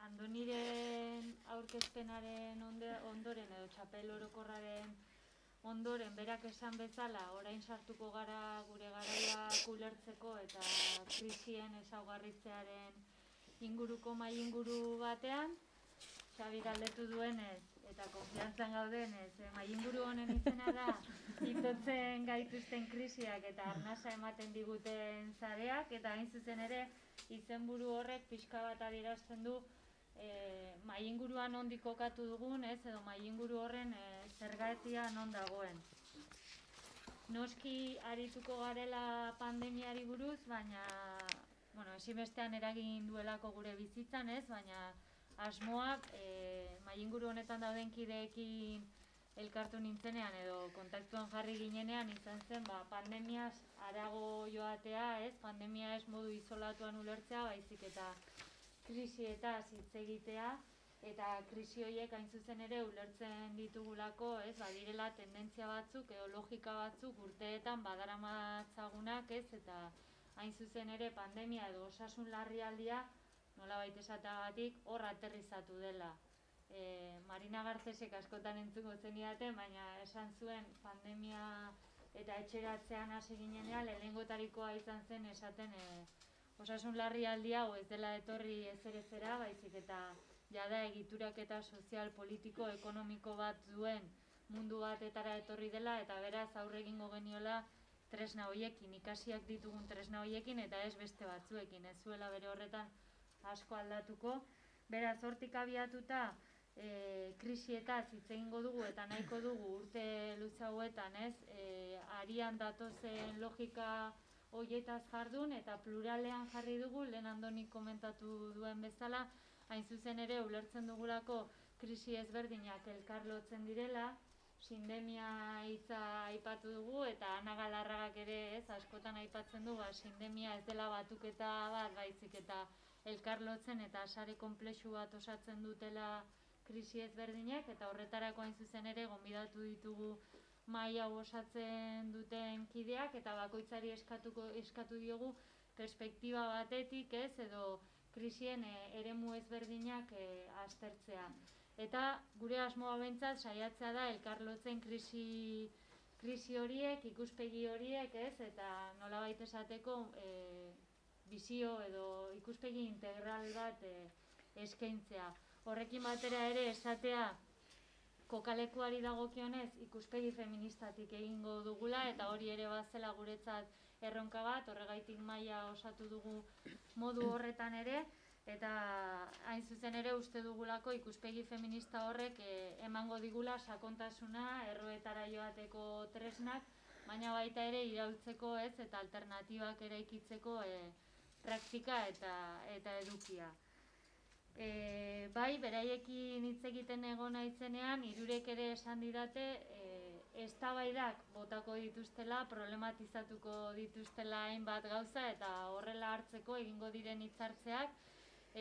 Andoniren aurkezpenaren ondoren edo txapel orokorraren ondoren berak esan bezala orain sartuko gara gure garaiak ulertzeko eta krisien ezaugarritzearen inguruko mahai inguru batean. Xabi galdetu duenez eta konfiantzan gaudenez, mahai inguru honen izena da itotzen gaituzten krisiak eta arnasa ematen diguten sareak, eta hain zuzen ere izenburu horrek pixka bat adierazten du mahai inguruan nondik kokatu dugun, edo mahai inguru horren zergatia non dagoen. Noski arituko garela pandemiari buruz, baina ezinbestean eragin duelako gure bizitzan, baina asmoak mahai inguru honetan dauden kideekin elkartu nintzenean edo kontaktuan jarri ginenean izan zen pandemiaz harago joatea, pandemia ez modu isolatuan ulertzea, baizik eta krisietaz hitz egitea, eta krisi horiek hain zuzen ere ulertzen ditugulako, badirela tendentzia batzuk edo logika batzuk urteetan badaramatzagunak, eta hain zuzen ere pandemia edo osasun larrialdia nolabait esateagatik hor aterrizatu dela. Marina Garcesek askotan entzuko zenidaten, baina esan zuen pandemia eta etxeratzean hasi ginenean lehenengotarikoa izan zen esaten osasun larrialdia hau ez dela etorri ezerezera, baizik eta jada egiturak eta sozial, politiko, ekonomiko bat duen mundu batetara etorri dela, eta beraz aurre egingo geniola tresna horiekin, ikasiak ditugun tresna horiekin eta ez beste batzuekin, ez zuela bere horretan asko aldatuko. Beraz, hortik abiatuta krisietaz hitz egingo dugu eta nahiko dugu urte luze hauetan, arian datozen logika horietaz jardun eta pluralean jarri dugu, lehen Andonik komentatu duen bezala, hain zuzen ere ulertzen dugulako krisi ezberdinak elkarlotzen direla, sindemia hitza aipatu dugu eta Ana Galarragak ere askotan aipatzen du, sindemia ez dela batuketa bat, baizik eta elkarlotzen eta sare konplexu bat osatzen dutela krisi ezberdinak, eta horretarako hain zuzen ere gonbidatu ditugu mahai hau osatzen duten kideak, eta bakoitzari eskatu diogu perspektiba batetik edo krisien eremu ezberdinak aztertzea. Eta gure asmoa behintzat saiatzea da elkarlotzen krisi horiek, ikuspegi horiek, eta nolabait esateko bizio edo ikuspegi integral bat eskaintzea. Horrekin batera ere esatea kokalekuari dagokionez ikuspegi feministatik egingo dugula, eta hori ere bazela guretzat erronka bat, horregaitik mahaia osatu dugu modu horretan ere, eta hain zuzen ere uste dugulako ikuspegi feminista horrek emango digula sakontasuna, erroetara joateko tresnak, baina baita ere iraultzeko eta alternatibak eraikitzeko praktika eta edukia. Bai, beraiekin hitz egiten egon naizenean, hirurek ere esan didate eztabaidak botako dituztela, problematizatuko dituztela hainbat gauza, eta horrela hartzeko egingo diren hitzartzeak,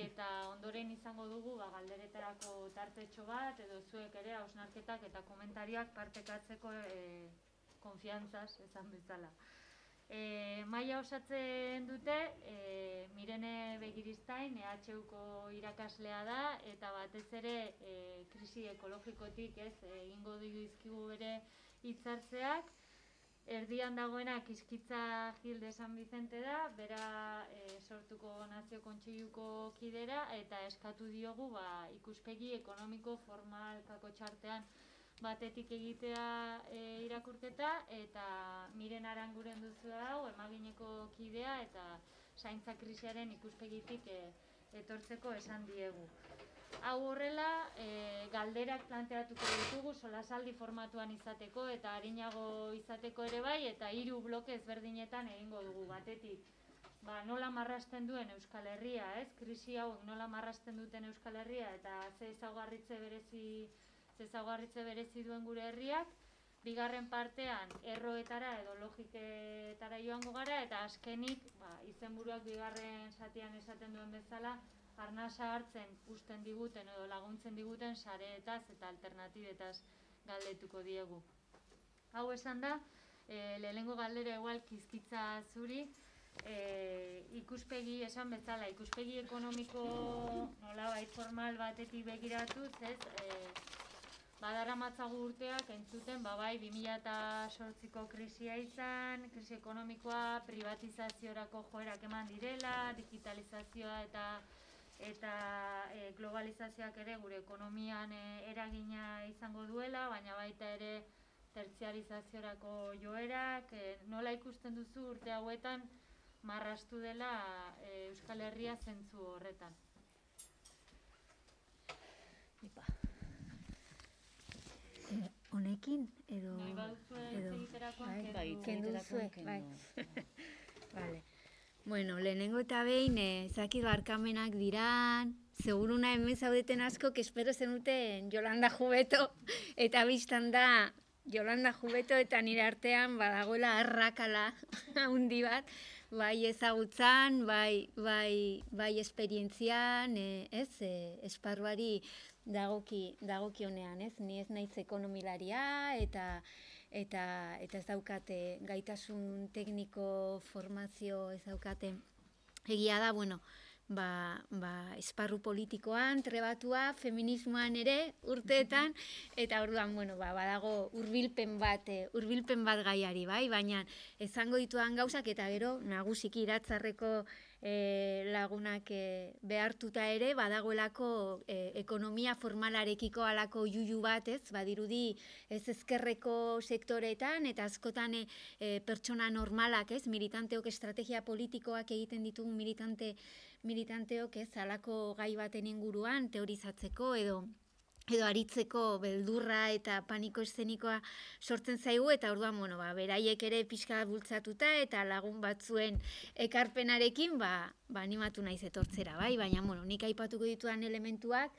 eta ondoren izango dugu galderetarako tartetxo bat, edo zuek ere hausnarketak eta komentarioak partekatzeko konfiantzaz esan bezala. Mahaia osatzen dute Mirene Begiristain, EHUko irakaslea da, eta batez ere krisi ekologikotik egingo dizkigu bere hitzartzeak. Erdian dagoena Kiskitza Gil de San Vicente da, bera sortuko Nazio Kontseiluko kidera, eta eskatu diogu ikuspegi ekonomiko formal kakotxartean batetik egitea irakurketa, eta Miren Aranguren duzu hau, emagineko kidea, eta zaintza krisiaren ikuspegitik etortzeko esan diegu. Hau horrela, galderak planteatuko ditugu solasaldi formatuan izateko eta arinago izateko ere bai, eta 3 bloke ezberdinetan egingo dugu. Batetik, nola marrasten duen Euskal Herria, krisi hauek nola marrasten duten Euskal Herria, eta ze ezaugarritze berezi duen gure herriak. Bigarren partean, erroetara edo logiketara joango gara, eta azkenik, izenburuak bigarren zatian esaten duen bezala, arnasa hartzen uzten diguten edo laguntzen diguten sareetaz eta alternatibetaz galdetuko diegu. Hau esan da, lehenengo galdera igual Kiskitza zuri, ikuspegi, esan bezala, ikuspegi ekonomiko nolabait formal batetik begiratuz, ez? Badaramatzagu urteak entzuten, bai 2008ko krisia izan, krisi ekonomikoa, privatizaziorako joerak eman direla, digitalizazioa eta globalizazioak ere gure ekonomian eragina izango duela, baina baita ere tertziarizaziorako joerak, nola ikusten duzu urte hauetan marrastu dela Euskal Herria zentzu horretan? Honekin edo... Nahi baduzue egiterakoan kendu duzue, bai. Vale. Bueno, lehenengo eta behin, ezakit barkamenak diran, seguruna hemen zaudeten asko, espero zenuten Yolanda Jubeto, eta biztan da Yolanda Jubeto eta nire artean badagoela arrakala handi bat, bai ezagutzan, bai esperientzian, esparruari dagokionean, ez? Ni ez naiz ekonomilaria eta ez daukate gaitasun tekniko formazio ez daukate. Egia da, bueno, esparru politikoan, trebatua, feminismoan ere urteetan, eta orduan, bueno, badago hurbilpen bat gaiari, bai? Baina esango ditudan gauzak eta gero nagusiki iratzarreko lagunak behartuta ere, badagoelako ekonomia formalarekiko alako juju bat, ez? Badirudi ez ezkerreko sektoreetan, eta askotan pertsona normalak, ez? Militanteok estrategia politikoak egiten ditugun militanteok, ez? Alako gai baten inguruan teorizatzeko edo aritzeko beldurra eta paniko eszenikoa sortzen zaigu, eta orduan, bueno, beraiek ere pixka bultzatuta eta lagun batzuen ekarpenarekin, animatu naiz etortzera, bai? Baina, bueno, nik aipatuko ditudan elementuak,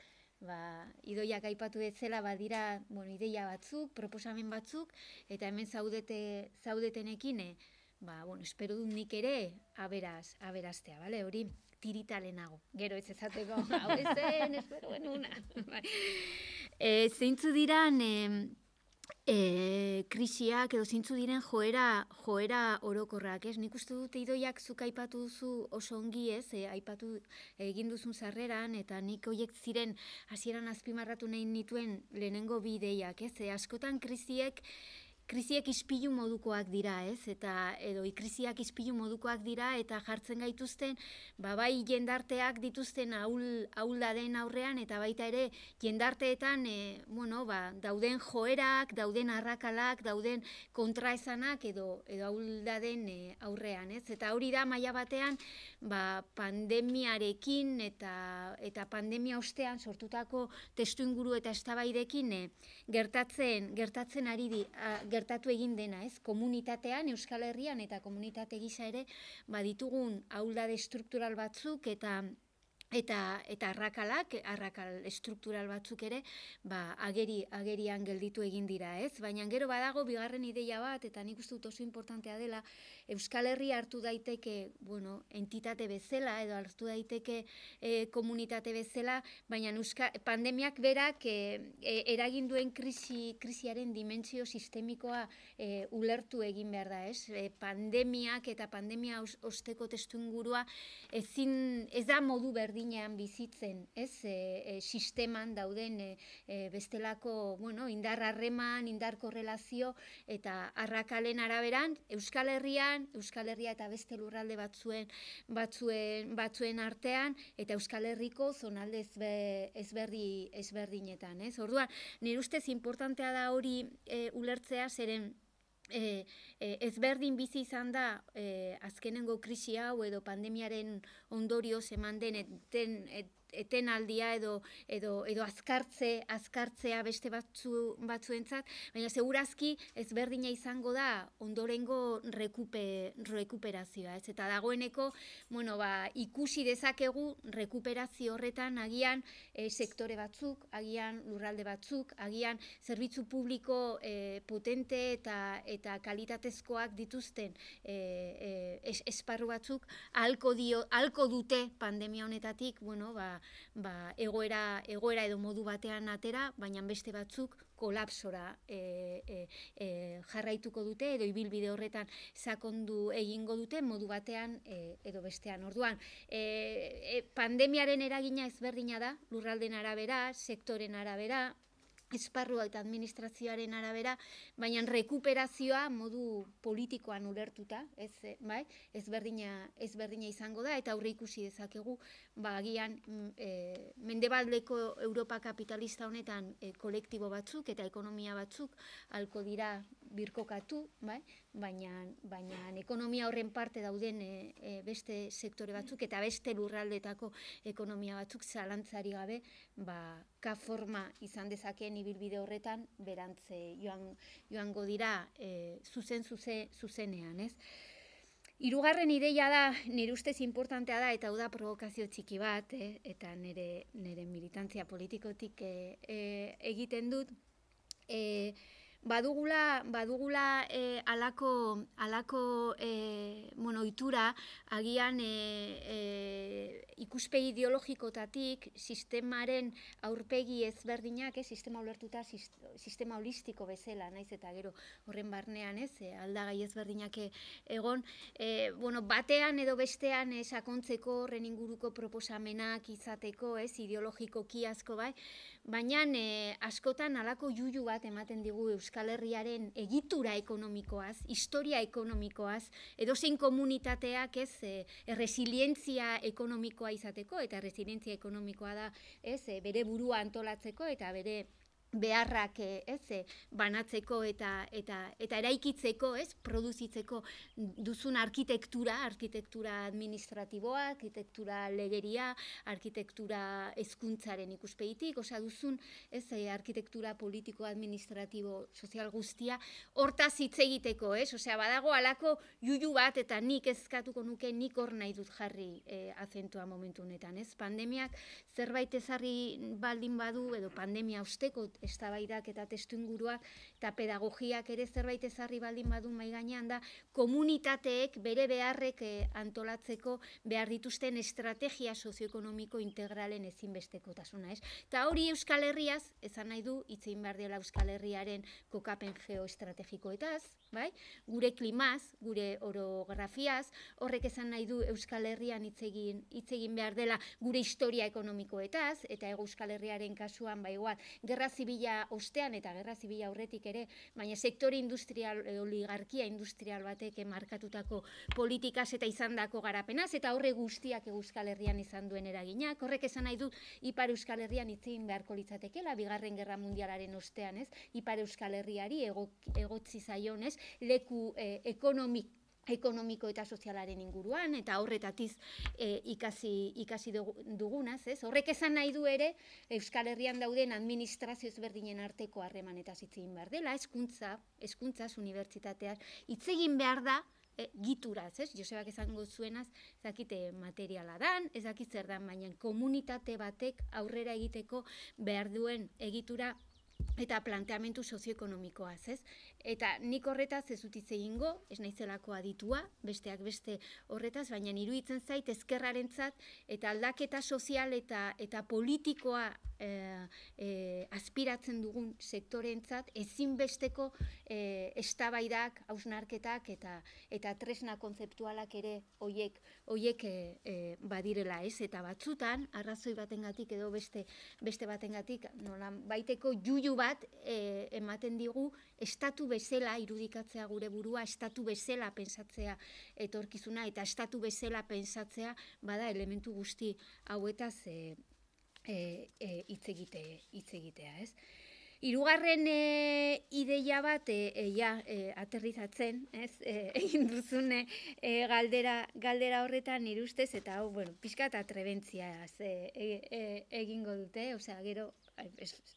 Idoiak aipatu bezala badira, bueno, ideia batzuk, proposamen batzuk, eta hemen zaudetenekin, bueno, espero dut nik ere aberastea, bale? Hori tirita lehenago, gero ez ezateko, hau ezen, espero benuna. Zeintzu diran krisiak edo zeintzu diren joera orokorrak, ez? Nik uste dut Idoiak zuk aipatu duzu oso ongi, ez? Aipatu egin duzun sarreran, eta nik horiek ziren hasieran azpimarratu nahi nituen lehenengo bi ideiak, ez? Askotan krisiek ispilu modukoak dira, ez? Edo krisiak ispilu modukoak dira eta jartzen gaituzten, bai jendarteak dituzten ahuldaden aurrean, eta baita ere jendarteetan, dauden joerak, dauden arrakalak, dauden kontraesanak edo ahuldaden aurrean, ez? Eta hori da maila batean, pandemiarekin eta pandemia ostean sortutako testuinguru eta eztabaidekin gertatu egin dena, ez? Komunitatean, Euskal Herrian eta komunitate gisa ere, ditugun ahuldade struktural batzuk eta arrakal estruktural batzuk ere, agerian gelditu egin dira, ez? Baina gero badago bigarren ideia bat, eta nik uste dut oso importantea dela, Euskal Herria hartu daiteke, entitate bezala, edo hartu daiteke komunitate bezala, baina pandemiak berak eragin duen krisiaren dimentsio sistemikoa ulertu egin behar da, ez? Pandemiak eta pandemia osteko testuingurua ez da modu berdinean bizitzen, ez? Sisteman dauden bestelako, indar harreman, indar korrelazio eta arrakalen araberan, Euskal Herria eta beste lurralde batzuen artean, eta Euskal Herriko zonalde ezberdinetan, ez? Orduan, nire ustez importantea da hori ulertzea, zeren ezberdin bizi izan da azkenengo krisi hau edo pandemiaren ondorioz eman den etenaldia edo azkartzea beste batzuentzat, baina segurazki ezberdina izango da ondorengo rekuperazioa, ez? Eta dagoeneko, ikusi dezakegu rekuperazio horretan agian sektore batzuk, agian lurralde batzuk, agian zerbitzu publiko potente eta kalitatezkoak dituzten esparru batzuk ahalko dute pandemia honetatik, egoera edo modu batean atera, baina beste batzuk kolapsora jarraituko dute, edo ibilbide horretan sakondu egingo dute modu batean edo bestean. Orduan, pandemiaren eragina ezberdina da, lurraldeen arabera, sektoren arabera, esparrua eta administrazioaren arabera, baina rekuperazioa modu politikoan ulertuta, ezberdina izango da, eta aurre ikusi dezakegu, agian mendebaldeko Europa kapitalista honetan kolektibo batzuk eta ekonomia batzuk halko dira birkokatu, baina ekonomia horren parte dauden beste sektore batzuk eta beste lurraldetako ekonomia batzuk zalantzari gabe ka-forma izan dezakeen ibilbide horretan berantze joango dira zuzenean, ez? Hirugarren ideia da, nire ustez importantea da, eta hau da provokazio txiki bat, eta nire militantzia politikotik egiten dut, badugula alako ohitura agian ikuspegi ideologikotatik sistemaren aurpegi ezberdinak, sistema ulertuta sistema holistiko bezala, naiz eta gero horren barnean aldagai ezberdinak egon, batean edo bestean sakontzeko horren inguruko proposamenak izateko, ideologikoki asko baina askotan alako juju bat ematen digu Euskal Herriaren egitura ekonomikoaz, historia ekonomikoaz, edozein komunitateak resilientzia ekonomikoa izateko, eta resilientzia ekonomikoa da bere burua antolatzeko eta bere beharrak banatzeko eta eraikitzeko, produzitzeko duzun arkitektura administratiboa, arkitektura legeria, arkitektura hezkuntzaren ikuspegitik, duzun arkitektura politiko, administratibo, sozial guztia, hortaz hitz egiteko, badago alako juju bat eta nik eskatuko nuke, nik hor nahi dut jarri azentua momentu honetan, pandemiak zerbait ezarri baldin badu, edo pandemia osteko eztabaidak eta testuinguruak eta pedagogiak ere zerbait ezarri baldin badu mahai gainean da, komunitateek bere beharrek antolatzeko behar dituzten estrategia sozioekonomiko integralen ezinbestekotasuna, Eta hori Euskal Herriaz, esan nahi du, hitz egin behar dela Euskal Herriaren kokapen geoestrategikoetaz, gure klimaz, gure orografiaz, horrek esan nahi du Euskal Herrian hitz egin behar dela gure historia ekonomikoetaz, eta Euskal Herriaren kasuan, igual, gerra zibila ostean eta gerra zibila aurretik ere, baina sektore industrial, oligarkia industrial batek markatutako politikaz eta izandako garapenaz, eta horre guztiak Euskal Herrian izan duen eraginak, horrek esan nahi du Ipar Euskal Herrian hitz egin beharko litzatekeela, Bigarren Gerra Mundialaren ostean, Ipar Euskal Herriari egotzi zaion, leku ekonomiko eta sozialaren inguruan, eta horretatiz ikasi dugunaz, horrek esan nahi du ere, Euskal Herrian dauden administrazio ezberdinen arteko harremanetaz hitz egin behar dela, hezkuntzaz, unibertsitateaz, hitz egin behar da, gituraz, Josebak esango zuenaz, ezakite materiala dan, ezakit zer dan, baina komunitate batek aurrera egiteko behar duen egitura eta planteamentu sozioekonomikoaz, Eta nik horretaz ez dut hitz egingo, ez naizelako aditua, besteak beste horretaz, baina iruditzen zait ezkerrarentzat eta aldaketa sozial eta politikoa aspiratzen dugun sektoreentzat ezinbesteko eztabaidak, hausnarketak eta tresna kontzeptualak ere hoiek badirela, eta batzutan arrazoi batengatik edo beste batengatik nola baiteko juju bat ematen digu estatu bezala irudikatzea gure burua, estatu bezala pentsatzea etorkizuna eta estatu bezala pentsatzea bada elementu guzti hauetaz hitz egitea, Hirugarren ideia bat, aterrizatzen, egin duzune galdera horretan nire ustez, eta hau, pixka eta trebentziaz egingo dute, gero,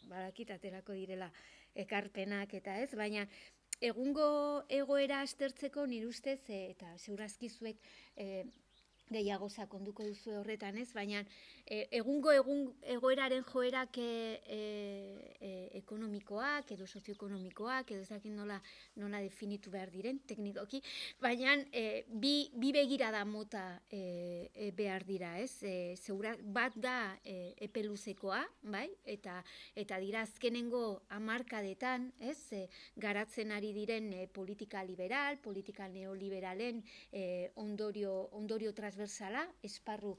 badakit aterako direla ekarpenak eta baina egungo egoera aztertzeko nire ustez, eta segurazki zuek gehiago sakonduko duzu horretan, ez? Baina egungo egoeraren joerak ekonomikoak edo sozioekonomikoak edo ez dakit nola definitu behar diren teknikoki, baina bi begirada mota behar dira, ez? Bat da epe luzekoa, bai? Eta dira azkenengo hamarkadetan, ez? Garatzen ari diren politika liberal, politika neoliberalen ondorio transversala, esparru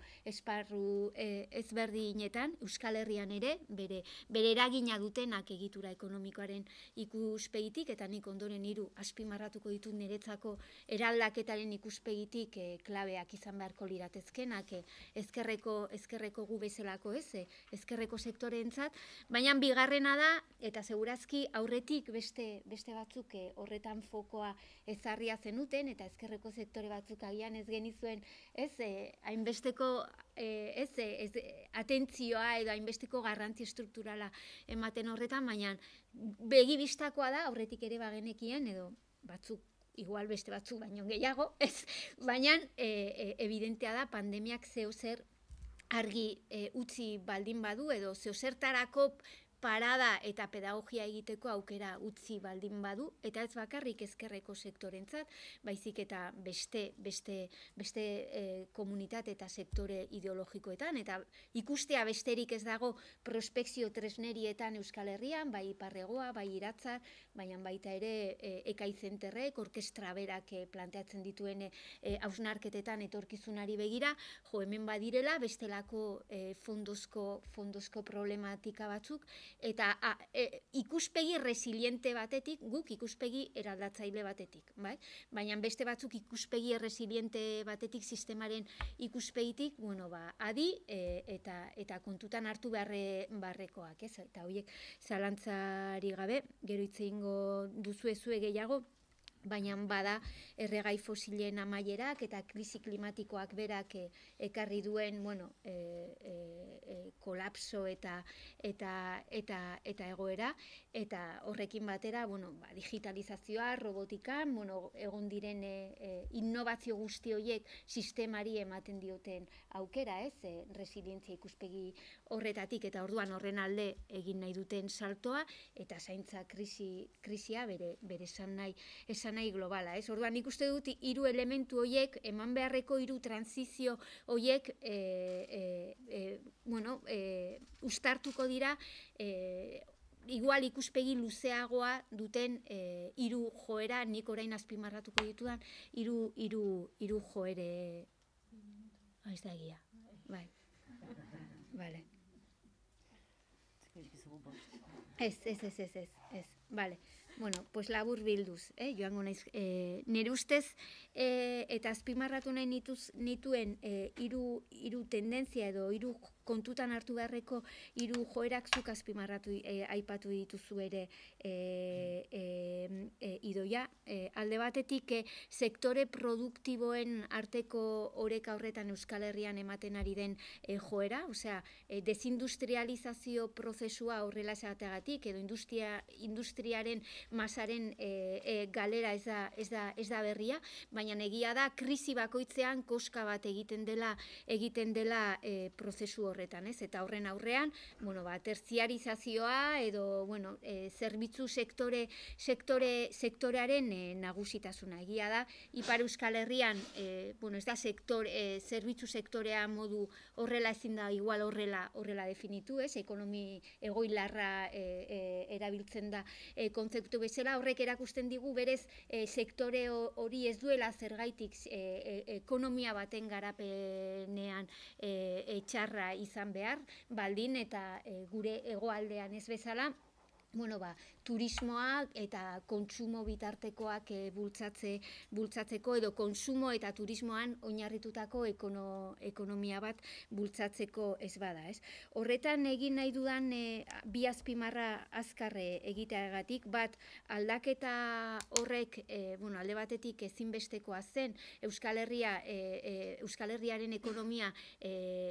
ezberdinetan, Euskal Herrian ere, bere eragina dutenak egitura ekonomikoaren ikuspegitik, eta nik ondoren 3 azpimarratuko ditut niretzako eraldaketaren ikuspegitik klabeak izan beharko liratezkenak, ezkerreko gu bezalako, ez? Ezkerreko sektoreentzat, baina bigarrena da, eta segurazki aurretik beste batzuk horretan fokoa ezarria zenuten, eta ezkerreko sektore batzuk agian ez genizuen, ez, hainbesteko atentzioa edo hainbesteko garrantzi estrukturala ematen horretan, baina begibistakoa da, aurretik ere bagenekien, edo batzuk, igual beste batzuk baino gehiago, ez, baina evidentea da pandemiak zeozer argi utzi baldin badu, edo zeozertarako parada eta pedagogia egiteko aukera utzi baldin badu, eta ez bakarrik ezkerreko sektorentzat, baizik eta beste komunitate eta sektore ideologikoetan, eta ikustea besterik ez dago prospekzio tresnerietan Euskal Herrian, bai Iparregoa, bai Iratzar, baina baita ere Ekaizenterrek, orkestra berak planteatzen dituen hausnarketetan etorkizunari begira, hemen badirela bestelako fondozko problematika batzuk, eta ikuspegi resiliente batetik, guk ikuspegi eraldatzaile batetik, bai? Baina beste batzuk ikuspegi resiliente batetik, sistemaren ikuspegitik, adi eta kontutan hartu beharrekoak, ez? Eta horiek zalantzari gabe, gero hitz egingo duzuezue gehiago, baina bada erregai fosilen amaierak eta krisi klimatikoak berak ekarri duen kolapso eta egoera, eta horrekin batera digitalizazioa, robotika, egon diren innovazio guzti horiek sistemari ematen dioten aukera, ez? Resilientzia ikuspegi horretatik, eta orduan horren alde egin nahi duten saltoa, eta zaintza krisia bere esan nahi globala, ez? Orduan nik uste dut 3 elementu horiek, eman beharreko 3 transizio horiek uztartuko dira igual ikuspegi luzeagoa duten 3 joera, nik orain azpimarratuko ditudan 3 joere. Ez da egia. Bai. Vale. Ez. Vale. Bueno, pues labur bilduz, joango naiz. Nire ustez, eta azpimarratu nahi nituen 3 tendentzia edo 3 kontutan hartu beharreko 3 joerak zuk azpimarratu aipatu dituzu ere Idoia. Alde batetik sektore produktiboen arteko oreka horretan Euskal Herrian ematen ari den joera, osea, desindustrializazio prozesua horrela esateagatik, edo industriaren masaren galera ez da berria, baina egia da krisi bakoitzean koska bat egiten dela prozesu horretan, ez? Eta horren aurrean, terziarizazioa edo zerbitzu sektorearen nagusitasuna. Egia da, Ipar Euskal Herrian, ez da zerbitzu sektorea modu horrela ezin da igual horrela definitu, ez? Ekonomi egoilarra erabiltzen da kontzeptu bezala, horrek erakusten digu berez sektore hori ez duela zergaitik ekonomia baten garapenean txarra izan behar, baldin eta gure hegoaldean ez bezala, turismoak eta kontsumo bitartekoak bultzatzeko edo kontsumo eta turismoan oinarritutako ekonomia bat bultzatzeko ez bada, ez? Horretan egin nahi dudan bi azpimarra azkarre egiteagatik, bat aldaketa horrek alde batetik ezinbestekoa zen Euskal Herriaren ekonomia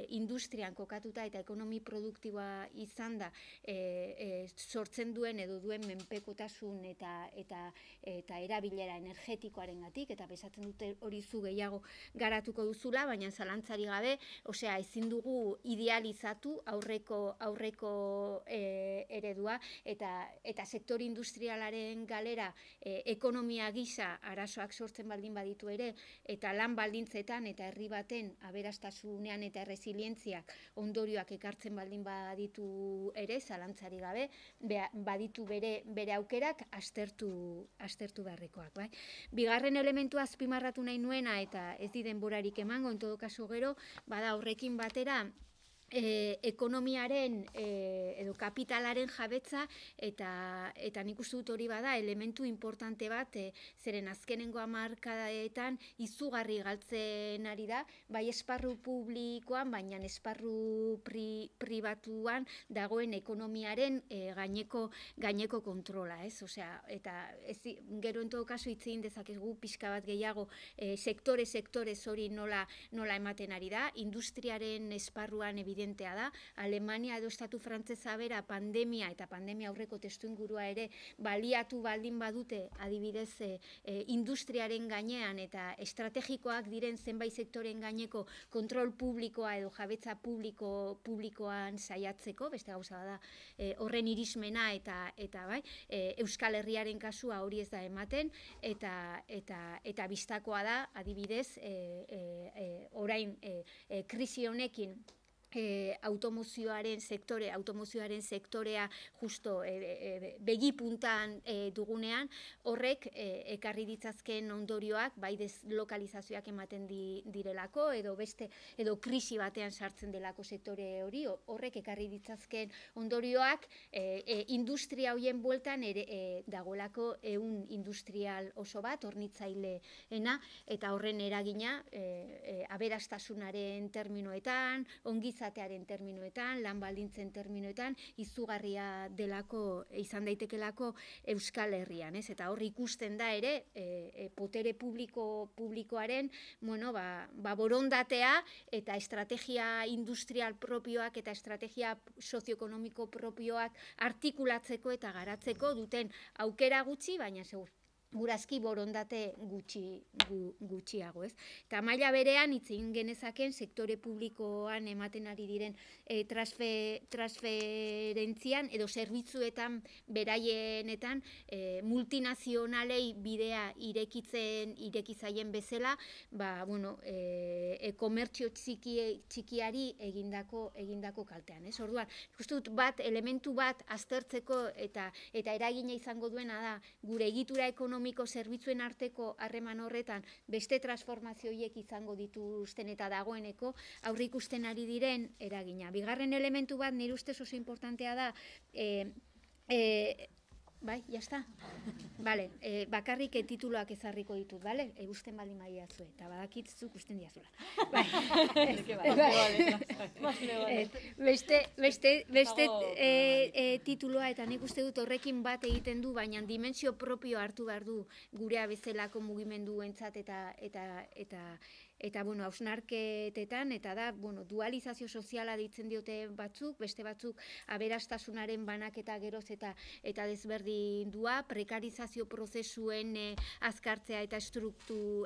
industrian kokatuta eta ekonomi produktiboa izan da sortzen izan duen edo duen menpekotasun eta erabilera energetikoarengatik, eta besatzen dute hori zu gehiago garatuko duzula, baina zalantzari gabe, osea, ezin dugu idealizatu aurreko eredua, eta sektore industrialaren galera ekonomia gisa arazoak sortzen baldin baditu ere, eta lan baldintzetan eta herri baten aberastasunean eta resilientziak ondorioak ekartzen baldin baditu ere, zalantzari gabe, baditu bere aukerak aztertu beharrekoak. Bai? Bigarren elementua azpimarratu nahi nuena, eta ez di denborarik emango, en todo caso gero, bada horrekin batera, ekonomiaren edo kapitalaren jabetza, eta nik uste dut hori bada elementu importante bat, zeren azkenengo hamarkadetan izugarri galtzen ari da, bai esparru publikoan, baina esparru pribatuan dagoen ekonomiaren gaineko kontrola, ez? Osea, eta gero en todo caso hitz egin dezakegu pixka bat gehiago sektore hori nola ematen ari da, industriaren esparruan evidentea da, Alemania edo estatu frantsesa bera pandemia eta pandemia aurreko testuingurua ere baliatu baldin badute, adibidez industriaren gainean eta estrategikoak diren zenbait sektoren gaineko kontrol publikoa edo jabetza publikoan saiatzeko, beste gauza da horren irismena eta bai, Euskal Herriaren kasua hori ez da ematen, eta bistakoa da, adibidez, orain krisi honekin automozioaren sektorea justo begipuntan dugunean, horrek ekarri ditzazken ondorioak, bai deslokalizazioak ematen direlako, edo krisi batean sartzen delako sektore hori, horrek ekarri ditzazken ondorioak industria hoien bueltan dagoelako ehun industrial oso bat, hornitzaileena, eta horren eragina aberastasunaren terminoetan, ongizatearen terminoetan, lan baldintzen terminoetan, izugarria delako, izan daitekelako Euskal Herrian, ez? Eta hor ikusten da ere, potere publikoaren, borondatea eta estrategia industrial propioak eta estrategia sozioekonomiko propioak artikulatzeko eta garatzeko duten aukera gutxi, baina segurazki borondate gutxiago, ez? Eta maila berean hitz egin genezaken sektore publikoan ematen ari diren transferentzian edo zerbitzuetan beraienetan multinazionalei bidea irekizaien bezala, komertzio txikiari egindako kaltean, ez? Orduan, ikusten dut elementu bat aztertzeko eta eragina izango duena da gure egitura ekonomiko zerbitzuen arteko harreman horretan beste transformazio horiek izango dituzten eta dagoeneko aurre ikusten ari diren eragina. Bigarren elementu bat nire ustez oso importantea da, bai, jazta? Bale, bakarrik tituloak ezarriko ditut, bale? Usten baldin badiazue, eta badakitzuk usten diazula. Beste tituloa, eta nik uste dut horrekin bat egiten du, baina dimensio propio hartu behar du gurea bezalako mugimenduentzat eta hausnarketetan, eta da, dualizazio soziala deitzen diote batzuk, beste batzuk aberastasunaren banaketa geroz eta desberdindua, prekarizazio prozesuen azkartzea eta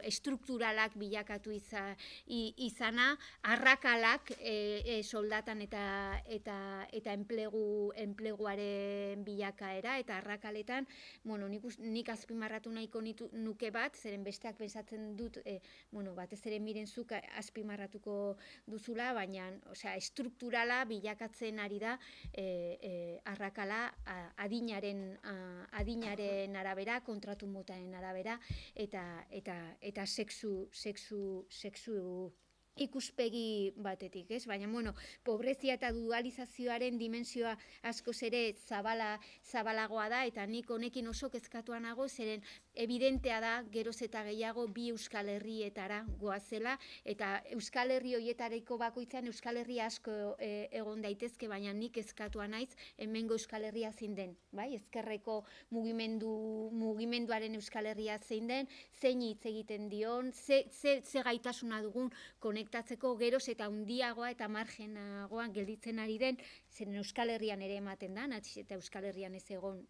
estrukturalak bilakatu izana, arrakalak soldatan eta enpleguaren bilakaera, eta arrakaletan, nik azpimarratu nahiko nuke bat, zeren besteak pensatzen dut, batez ere miren zuk azpimarratuko duzula, baina estrukturala bilakatzen ari da arrakala adinaren arabera, kontratu motaren arabera, eta sexu ikuspegi batetik, ez? Baina, pobrezia eta dualizazioaren dimensioa askoz ere zabalagoa da, eta nik honekin oso kezkatua nago, zeren evidentea da, geroz eta gehiago bi Euskal Herrietara goazela, eta Euskal Herri horietareko bakoitzan Euskal Herri asko egon daitezke, baina nik kezkatua naiz, hemengo Euskal Herria zein den, bai? Ezkerreko mugimenduaren Euskal Herria zein den, zein hitz egiten dion, ze gaitasuna dugun konektatzeko geroz eta handiagoa eta margenagoan gelditzen ari den, zeren Euskal Herrian ere ematen da, nahiz eta Euskal Herrian ez egon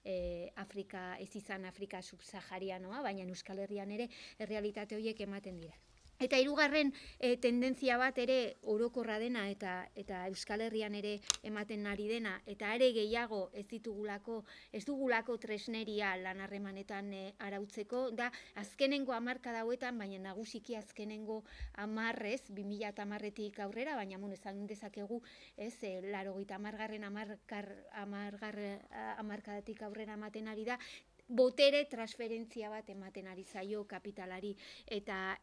ez izan Afrika subsaharianoa, baina Euskal Herrian ere errealitate horiek ematen dira. Eta hirugarren tendentzia bat ere orokorra dena eta Euskal Herrian ere ematen ari dena, eta ere gehiago ez dugulako tresneria lan harremanetan arautzeko, da azkenengo hamarkada hauetan, baina nagusiki azkenengo 2010etik aurrera, baina esan dezakegu, 80. hamarkadatik aurrera ematen ari da, botere transferentzia bat ematen ari zaio kapitalari eta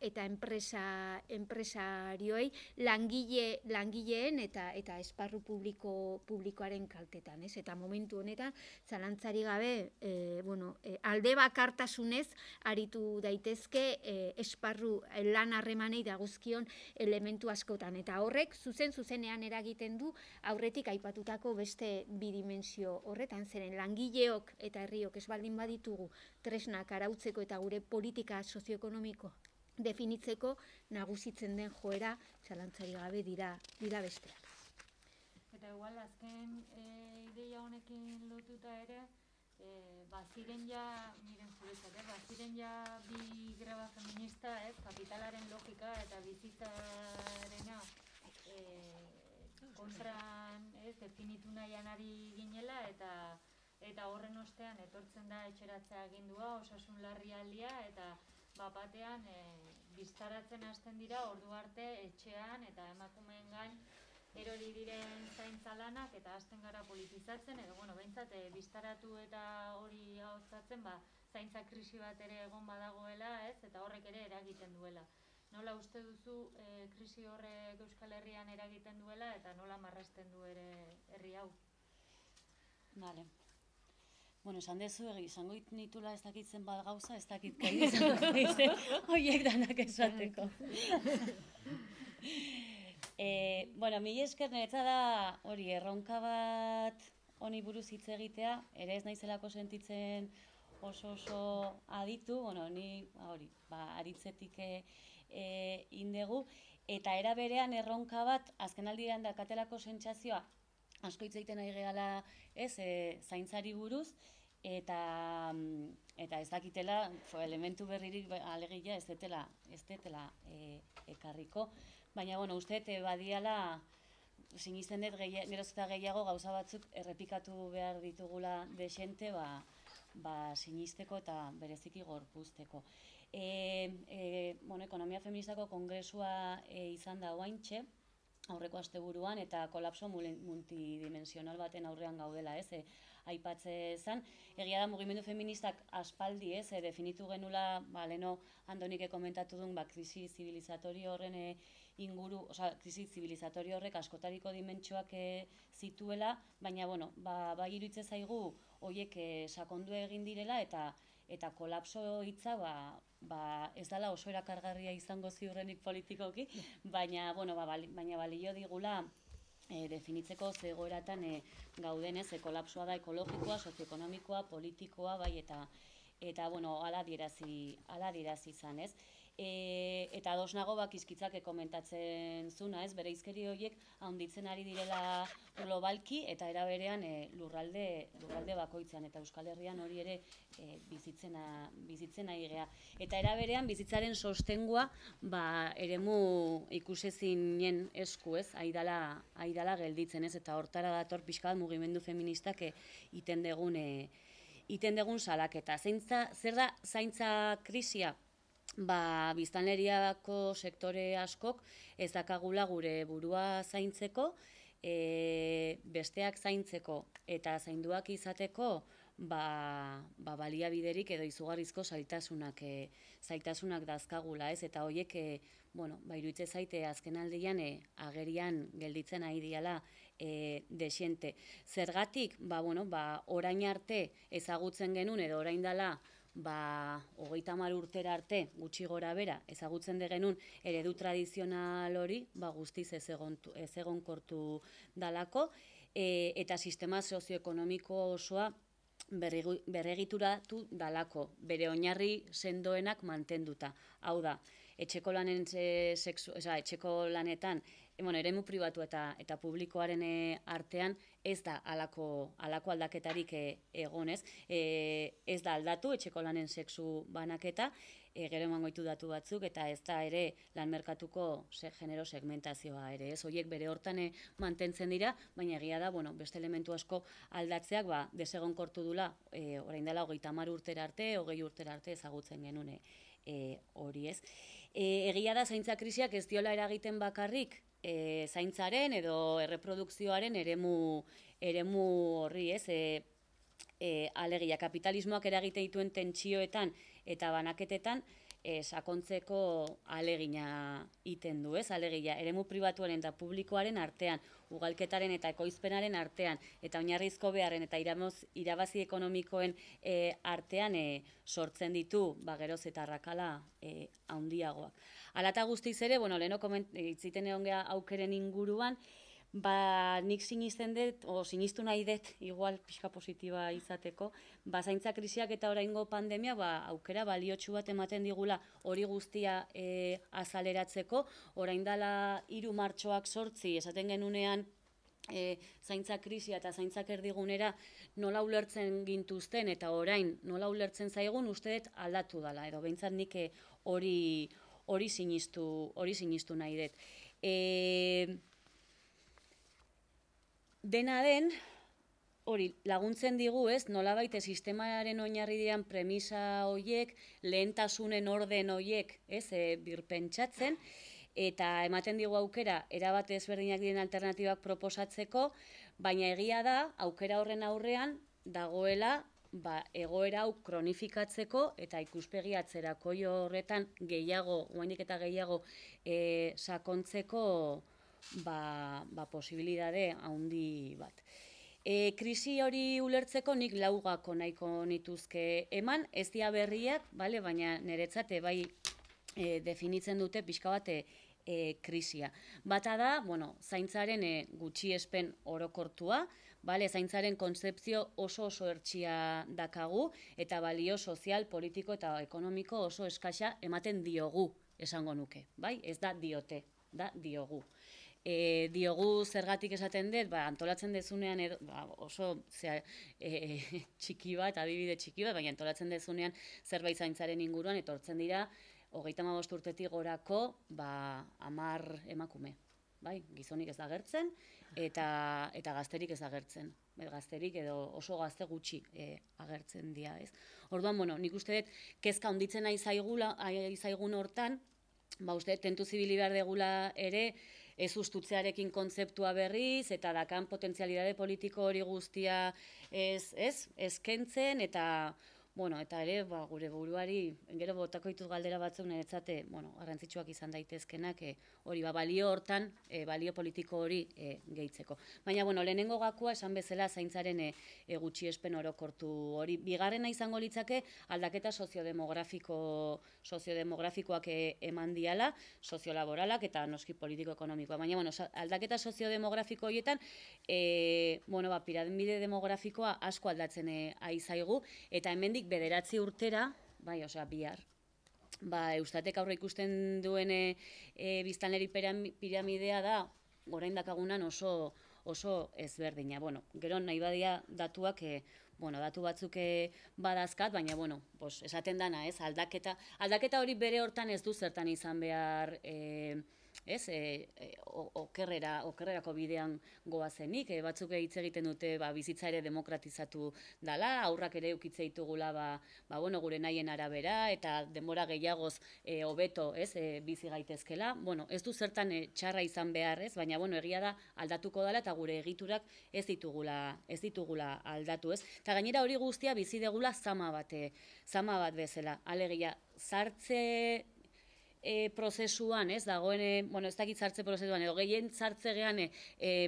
enpresarioei langileen eta esparru publikoaren kaltetan, ez? Eta momentu honetan zalantzari gabe, alde bakartasunez aritu daitezke esparru lan harremanei dagozkion elementu askotan, eta horrek zuzenean eragiten du aurretik aipatutako beste bi dimensio horretan, zeren langileok eta herriok ez baldin ditugu tresnak arautzeko eta gure politika sozioekonomiko definitzeko, nagusitzen den joera zalantzari gabe dira besteak. Eta igual azken ideia honekin lotuta ere, baziren ja bi greba feminista, kapitalaren logika eta bizitzarena kontran definitu nahian ari ginela, eta horren ostean etortzen da etxeratzea agindua, osasun larrialdia, eta batean biztaratzen hasten dira ordu arte etxean eta emakumeen gain erori diren zaintza lanak, eta hasten gara politizatzen, edo behintzat biztaratu eta hori ahotsatzen, zaintza krisi bat ere egon badagoela, eta horrek ere eragiten duela. Nola uste duzu krisi horrek Euskal Herrian eragiten duela, eta nola marrazten du ere herri hau? Vale. Bueno, esan dezu, izango nitula ez dakitzen bat gauza, ez dakit kai izango izan, horiek danak esateko. Mila esker niretza da hori erronka bat honi buruz hitz egitea, ere ez naizelako sentitzen oso aditu, ni aritzetik indegu, eta era berean erronka bat, azken aldian dakatelako sentsazioa, asko hitz egiten ari gehala zaintzari buruz, eta ez dakitela elementu berririk alegia ez detela ekarriko. Baina, uste badiala, sinisten dut geroz eta gehiago gauza batzuk errepikatu behar ditugula desente, sinisteko eta bereziki gorpuzteko. Ekonomia feministako kongresua izan da oaintxe, aurreko asteburuan, eta kolapso multidimensional baten aurrean gaudela, aipatze zen. Egia da, mugimendu feministak aspaldi, definitu genula, leheno Andonik komentatu duen, krisi zibilizatorio horren inguru, krisi zibilizatorio horrek askotariko dimentsioak zituela, baina, bai iruditzen zaigu, horiek sakondu egin direla, eta kolapso hitza, ez dela oso erakargarria izango ziurrenik politikoki, baina balio digula definitzeko zegoeratan gaudenez, kolapsoa da ekologikoa, sozioekonomikoa, politikoa, eta hala adierazi izan, ez? Eta ados nago izkitzak komentatzen zuna, bere izkeri horiek handitzen ari direla globalki, eta era berean lurralde bakoitzean, eta Euskal Herrian hori ere bizitzen ari gea. Eta era berean bizitzaren sostengua eremu ikusezinen esku, aidala gelditzen, eta hortara dator pixka bat mugimendu feministak iten degun salaketa. Zer da zaintza krisia? Biztanleriako sektore askok ez dakagula gure burua zaintzeko, besteak zaintzeko eta zainduak izateko baliabiderik edo izugarrizko zailtasunak dazkagula, eta horiek iruditzen zaite azken aldian agerian gelditzen ari diala desiente. Zergatik, orain arte ezagutzen genuen edo orain dela 30 urtera arte, gutxi gora bera, ezagutzen genuen eredu tradizional hori, guztiz ez egonkortu dalako, eta sistema sozioekonomiko osoa berregituratu dalako, bere oinarri sendoenak mantenduta. Hau da, etxeko lanetan eremu pribatu eta publikoaren artean ez da halako aldaketarik egonez, ez da aldatu etxeko lanen sexu banaketa, gero emango ditu datu batzuk, eta ez da ere lan merkatuko genero segmentazioa ere, ez horiek bere hortan mantentzen dira, baina egia da, beste elementu asko aldatzeak desegonkortu dula, orain dela 30 urtera arte, 20 urtera arte ezagutzen genuen hori ez. Egia da zaintza krisiak ez diola eragiten bakarrik zaintzaren edo erreprodukzioaren eremu horri ez, alegia kapitalismoak eragite dituen tentsioetan eta banaketetan sakontzeko alegina iten du, ez? Alegia, eremu pribatuaren eta publikoaren artean, ugalketaren eta ekoizpenaren artean, eta oinarrizko beharren eta irabazi ekonomikoen artean sortzen ditu, geroz eta arrakala handiagoak. Hala eta guztiz ere, leheno itziten egon geha aukeren inguruan, nik sinisten dut, sinistu nahi dut, igual pixka positiba izateko, zaintza krisiak eta oraingo pandemia aukera baliotsu bat ematen digula hori guztia azaleratzeko, orain dela 3 martxoak 8 esaten genunean zaintza krisia eta zaintzak erdigunera nola ulertzen gintuzten eta orain nola ulertzen zaigun uste dut aldatu dela, edo behintzat nik hori sinistu nahi dut. Dena den, hori laguntzen digu, ez, nolabait sistemaren oinarri diren premisa horiek, lehentasunen orden horiek, ez, birpentsatzen, eta ematen digu aukera, erabat ezberdinak diren alternatibak proposatzeko, baina egia da, aukera horren aurrean, dagoela, egoera hau kronifikatzeko, eta ikuspegi atzerako horretan gehiago, oraindik eta gehiago sakontzeko, posibilidade handi bat. Krisi hori ulertzeko nik laugako nahiko nituzke eman, ez dia berriak, baina niretzat bai definitzen dute pixka bat krisia. Bata da, zaintzaren gutxiespen orokortua, zaintzaren kontzepzio oso ertsia dakagu, eta balio sozial, politiko eta ekonomiko oso eskasa ematen diogu, esango nuke. Ez da diote, da diogu. Diogu zergatik esaten dut, antolatzen dezunean oso txiki bat, adibide txiki bat, baina antolatzen dezunean zerbait zaintzaren inguruan, etortzen dira, 35 urtetik gorako 10 emakume. Gizonik ez da agertzen, eta gazterik ez da agertzen. Gazterik edo oso gazte gutxi agertzen dira, ez. Orduan, nik uste dut, kezka honditzen nahi zaigun hortan, uste dut, tentu zibili behar degula ere, ez ustutzearekin kontzeptua berriz, eta dakan potentzialidade politiko hori guztia eskentzen, eta ere, gure buruari, gero botako dituz galdera batzuk niretzate, garrantzitsuak izan daitezkenak, hori balio hortan, balio politiko hori gehitzeko. Baina, lehenengo gakoa, esan bezala, zaintzaren gutxiespen orokortu hori. Bigarrena izango litzake, aldaketa soziodemografikoak eman diala, soziolaboralak eta noski politiko-ekonomikoa. Baina, aldaketa soziodemografiko horietan, piramide demografikoa asko aldatzen aizaigu, eta hemendik 9 urtera, bihar, Eustatek aurre ikusten duen biztanleri piramidea da, orain dakagunan oso ezberdina. Gero nahi badia datuak, datu batzuk badazkat, baina, esaten dana, aldaketa hori bere hortan ez du zertan izan behar, okerrerako bidean goazenik, batzuk hitz egiten dute bizitza ere demokratizatu dala, aurrak ere ukitze ditugula gure nahien arabera, eta denbora gehiagoz hobeto bizi gaitezkela. Ez du zertan txarra izan behar, baina egia da aldatuko dela eta gure egiturak ez ditugula aldatu. Eta gainera hori guztia bizi degula zama bat bezala. Alegia, sartze prozesuan, dagoen, ez dakit sartze prozesuan, edo gehien sartzegean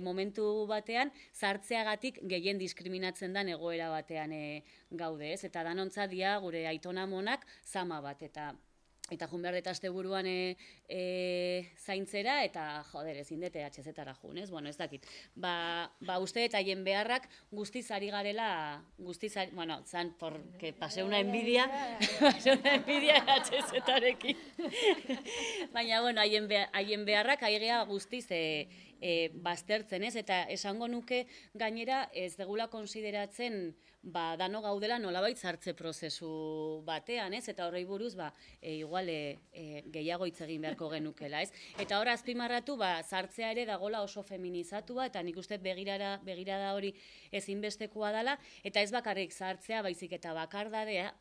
momentu batean, sartzeagatik gehien diskriminatzen den egoera batean gaude, eta danontza dia gure aitona monak zama bat, eta jun behar dut asteburuan zaintzera eta, joder, ezin dute HZ-tara jun, ez? Bueno, ez dakit. Ba uste eta haien beharrak guztiz ari garela, bueno, zan, porque pasé una envidia HZ-tarekin. Baina, bueno, haien beharrak aigea guztiz baztertzen, ez? Eta esango nuke gainera ez degula konsideratzen dano gaudela nolabait sartze prozesu batean, ez? Eta horrei buruz, igual gehiago hitz egin beharko genukela, ez? Eta hor azpimarratu, sartzea ere dagola oso feminizatua, eta nik uste begirada hori ezinbestekoa dela, eta ez bakarrik sartzea, baizik eta bakardadea,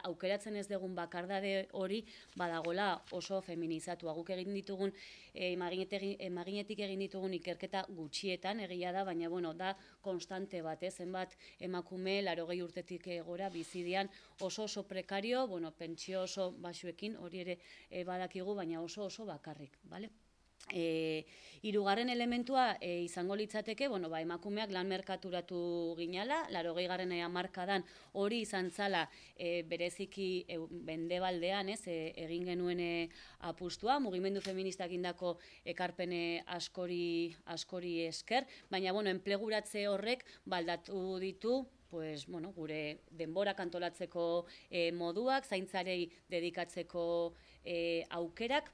aukeratzen ez dugun bakardade hori badagola oso feminizatua. Guk egin ditugun, emaginetik egin ditugun ikerketa gutxietan, egia da, baina, bueno, da konstante bat, zenbat emakume 80 urtetik gora bizidian oso prekario, bueno, pentsio oso basuekin, hori ere badakigu, baina oso bakarrik, bale? Hirugarren elementua izango litzateke, bueno, emakumeak lan merkaturatu ginala, 80. hamarkadan hori izan zala bereziki mendebaldean, egin genuen apustua, mugimendu feministak indako ekarpene askori esker, baina, bueno, enpleguratze horrek baldatu ditu, pues, bueno, gure denborak antolatzeko moduak, zaintzarei dedikatzeko aukerak,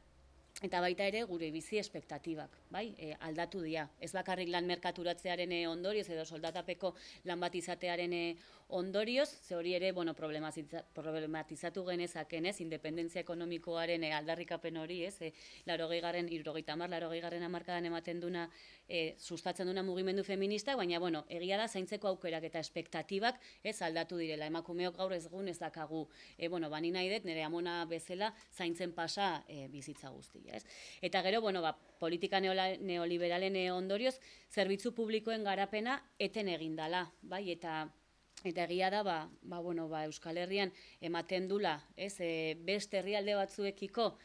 eta baita ere gure bizi espektatibak, bai, aldatu dira. Ez bakarrik lan merkaturatzearen ondorioz edo soldatapeko lan bat izatearen ondorioz, ze hori ere, bueno, problematizatu genezaken, independentzia ekonomikoaren aldarrikapen hori, 80. hamarkadan ematen duna, sustatzen duna mugimendu feminista, baina, bueno, egia da zaintzeko aukerak eta espektatibak aldatu direla. Emakumeok gaur ez dakagu, bueno, bani nahi dut, nire amona bezala zaintzen pasa bizitza guztia. Eta gero, bueno, politika neoliberalen ondorioz, zerbitzu publikoen garapena eten egindala, bai, eta egia da, Euskal Herrian ematen dula, beste herrialde batzuekiko,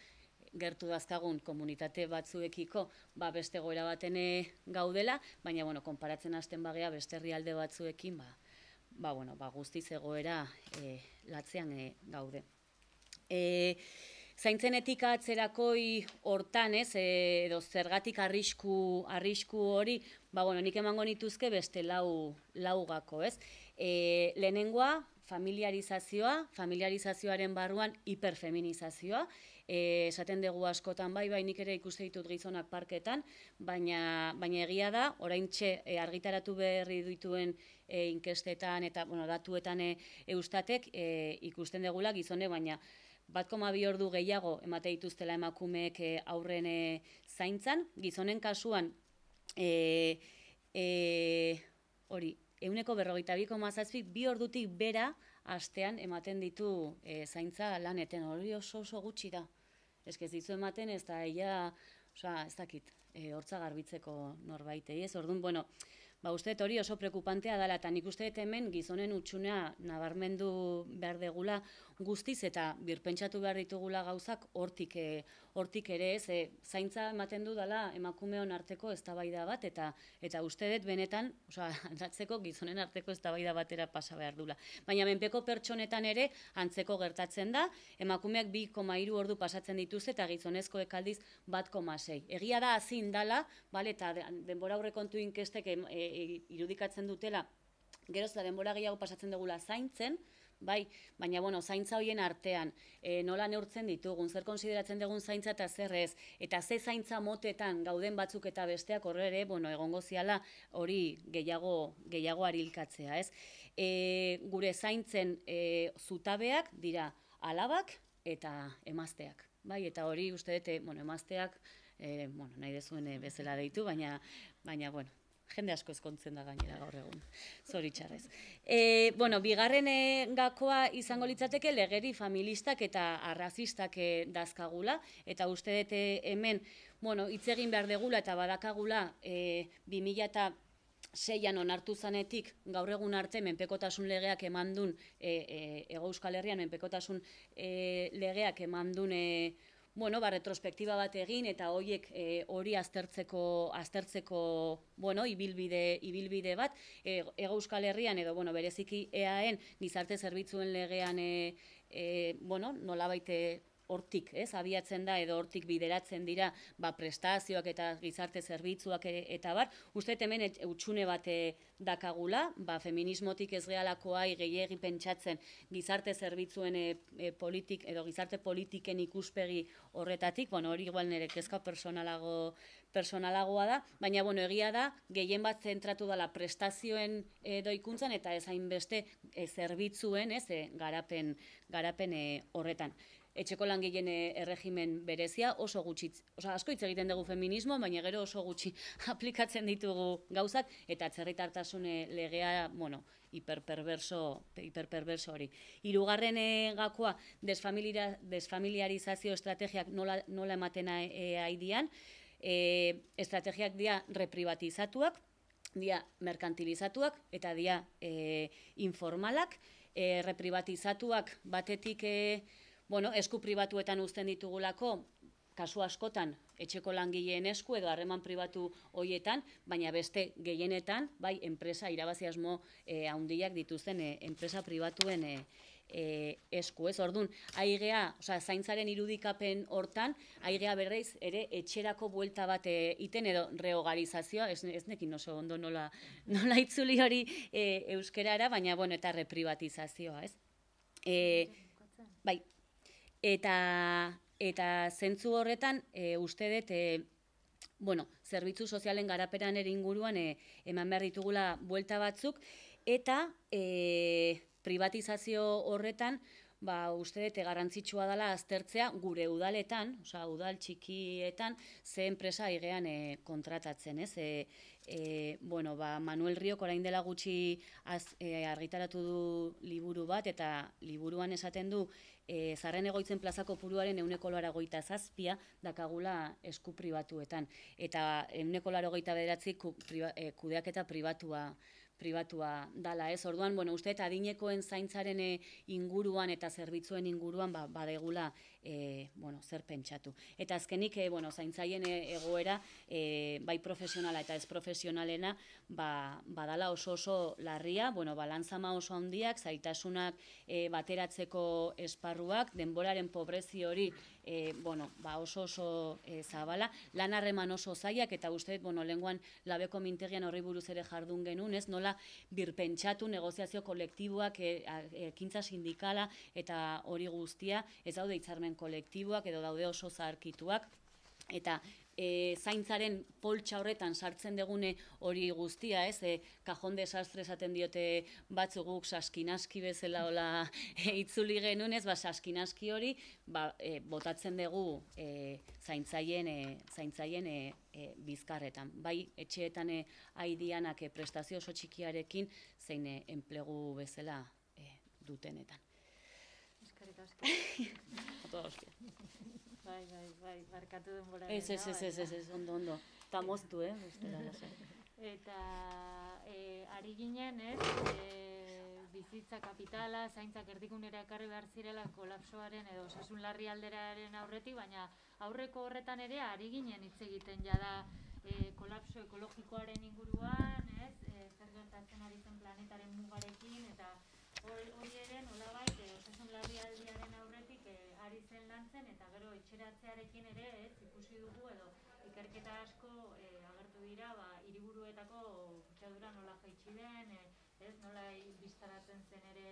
gertu dazkagun komunitate batzuekiko, beste goera baten gaudela, baina, bueno, konparatzen hasten bagea beste herrialde batzuekin, guztiz egoera latzean gaude. Zaintzen etika atzerakoi hortan, edo zergatik arrisku hori, nik emango nituzke beste lau gako, lehenengoa, familiarizazioaren barruan hiperfeminizazioa, esaten dugu askotan bai, nik ere ikuste ditut gizonak parketan, baina egia da, oraintxe argitaratu berri dituen inkestetan eta datuetan Eustatek ikusten dugula gizone, baina 1,2 ordu gehiago emate dituztela emakumeek aurren zaintzan, gizonen kasuan hori 42,7 2 ordutik bera astean ematen ditu zaintza laneten, hori oso gutxi da. Ez dizu ematen ez da ez dakit, hortza garbitzeko norbaitei, orduan, bueno, uste hori oso prekupantea dela, eta nik uste hemen gizonen utxunea nabarmendu behar degula guztiz, eta birpentsatu behar ditugula gauzak hortik ere, zaintza ematen du dela emakumeon arteko eztabaida bat, eta uste dut benetan, aldatzeko gizonen arteko eztabaida batera pasa behar dula. Baina menpeko pertsonetan ere antzeko gertatzen da, emakumeak 2,3 ordu pasatzen dituzte, eta gizonezkoek aldiz 1,6. Egia da hazin dala, eta denbora aurrekontu inkestek irudikatzen dutela, geroz da denbora gehiago pasatzen dugula zaintzen, bai, baina, bueno, zaintza horien artean, nola neurtzen ditugun, zer konsideratzen dugun zaintza eta zer ez, eta ze zaintza motetan gauden batzuk eta besteak horre ere, bueno, egongo ziala hori gehiago arilkatzea, ez? Gure zaintzen zutabeak dira alabak eta emazteak, bai, eta hori uste dute, bueno, emazteak, nahi dezuen bezala deitu, baina, bueno, jende asko ezkontzen da gainera gaur egun, zoritxarrez. Bigarren gakoa izango litzateke legeri familistak eta arrazistak dazkagula, eta uste dut hemen, hitz egin behar degula eta badakagula 2006an onartu zanetik gaur egun arte menpekotasun legeak emandun, Hego Euskal Herrian menpekotasun legeak emandun retrospektiba bat egin eta hori aztertzeko ibilbide bat, Hego Euskal Herrian edo bereziki EAen gizarte zerbitzuen legean nolabait hortik, abiatzen da edo hortik bideratzen dira prestazioak eta gizarte zerbitzuak eta bar, uste hemen utxune bat dakagula, feminismotik ez gehialakoai gehiegi pentsatzen gizarte zerbitzuen politik edo gizarte politiken ikuspegi horretatik, hori igual nire kezka personalagoa da, baina egia da, gehien bat zentratu dela prestazioen doikuntzan eta ez hainbeste zerbitzuen garapen horretan. Etxeko langileen erregimen berezia oso gutxi, asko hitz egiten dugu feminismo, baina gero oso gutxi aplikatzen ditugu gauzak, eta atzerritartasun legea, hiperperverso hori. Hirugarren gakoa, desfamiliarizazio estrategiak nola ematen aidian, estrategiak dira reprivatizatuak, dira merkantilizatuak, eta dira informalak, reprivatizatuak batetik esku pribatuetan uzten ditugulako, kasu askotan etxeko langileen esku edo harreman pribatu hoietan, baina beste gehienetan, bai, enpresa irabazi asmo handiak dituzten enpresa pribatuen esku, Orduan, aigea, zaintzaren irudikapen hortan, aigea berreiz ere etxerako buelta bat iten edo rehogarizazioa, ez nekin oso ondo nola itzuli hori euskerara, baina, eta reprivatizazioa, Bai, eta zentzu horretan, uste dut, zerbitzu sozialen garaperan ere inguruan eman behar ditugula buelta batzuk, eta privatizazio horretan, uste dut garrantzitsua dela aztertzea gure udaletan, udal txikietan, ze enpresa aigean kontratatzen, Manuel Riok orain dela gutxi argitaratu du liburu bat, eta liburuan esaten du zarren egoitzen plaza kopuruaren 187 dakagula esku pribatuetan. Eta 189 kudeaketa pribatua dala, Orduan, uste eta adinekoen zaintzaren inguruan eta zerbitzuen inguruan badegula zer pentsatu. Eta azkenik, zaintzaien egoera, bai profesionala eta ez profesionalena, badala oso larria, balantzama oso handiak, zaitasunak bateratzeko esparruak, denboraren pobrezi hori oso zabala, lan harreman oso zaiak, eta uste, lehenguan labeko mintegian horri buruz ere jardun genuen, nola birpentsatu negoziazio kolektiboak, ekintza sindikala eta hori guztia, ez daude hitzarmen kolektiboak edo daude oso zaharkituak, eta zaintzaren poltsa horretan sartzen degune hori guztia, kajon desastre esaten diote batzuguk saskinaski bezala hola itzuli genuen, saskinaski hori botatzen dugu zaintzaien bizkarretan. Bai, etxeetan aidianak prestazio oso txikiarekin zein enplegu bezala dutenetan. Eskerrik asko. Bai, barkatu denbora. Ez, ondo. Eta moztu, Eta ari ginen, bizitza kapitala, zaintzak erdikunera ekarri behar zirela kolapsoaren edo osasun larrialdiaren aurretik, baina aurreko horretan ere ari ginen hitz egiten jada kolapso ekologikoaren inguruan, zer gertatzen ari zen planetaren mugarekin, eta hori ere nolabait osasun larrialdiaren aurretik ari zen lantzen, eta gero etxeratzearekin ere ikusi dugu edo ikerketa asko agertu dira hiriburuetako kutsadura nola jaitsi den, nola biztaratzen zen ere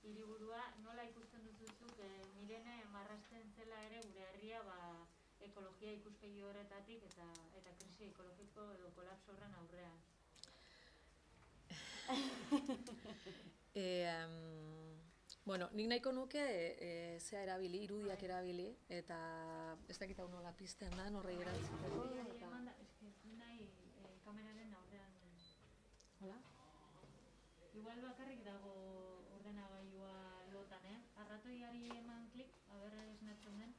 hiriburua, nola ikusten duzuzuk Mirene marrazten zela ere gure herria ekologia ikuspegi horretatik eta krisi ekologiko edo kolapso horren aurrean. Nik nahiko nuke zea erabili, irudiak erabili, eta ez dakit hau nola pizten da, horrei erantzuteko. Nahi kameraren aurrean. Hola? Igual bakarrik dago ordenagailua lotan, Arratoiari eman klik, aber esnatzen den.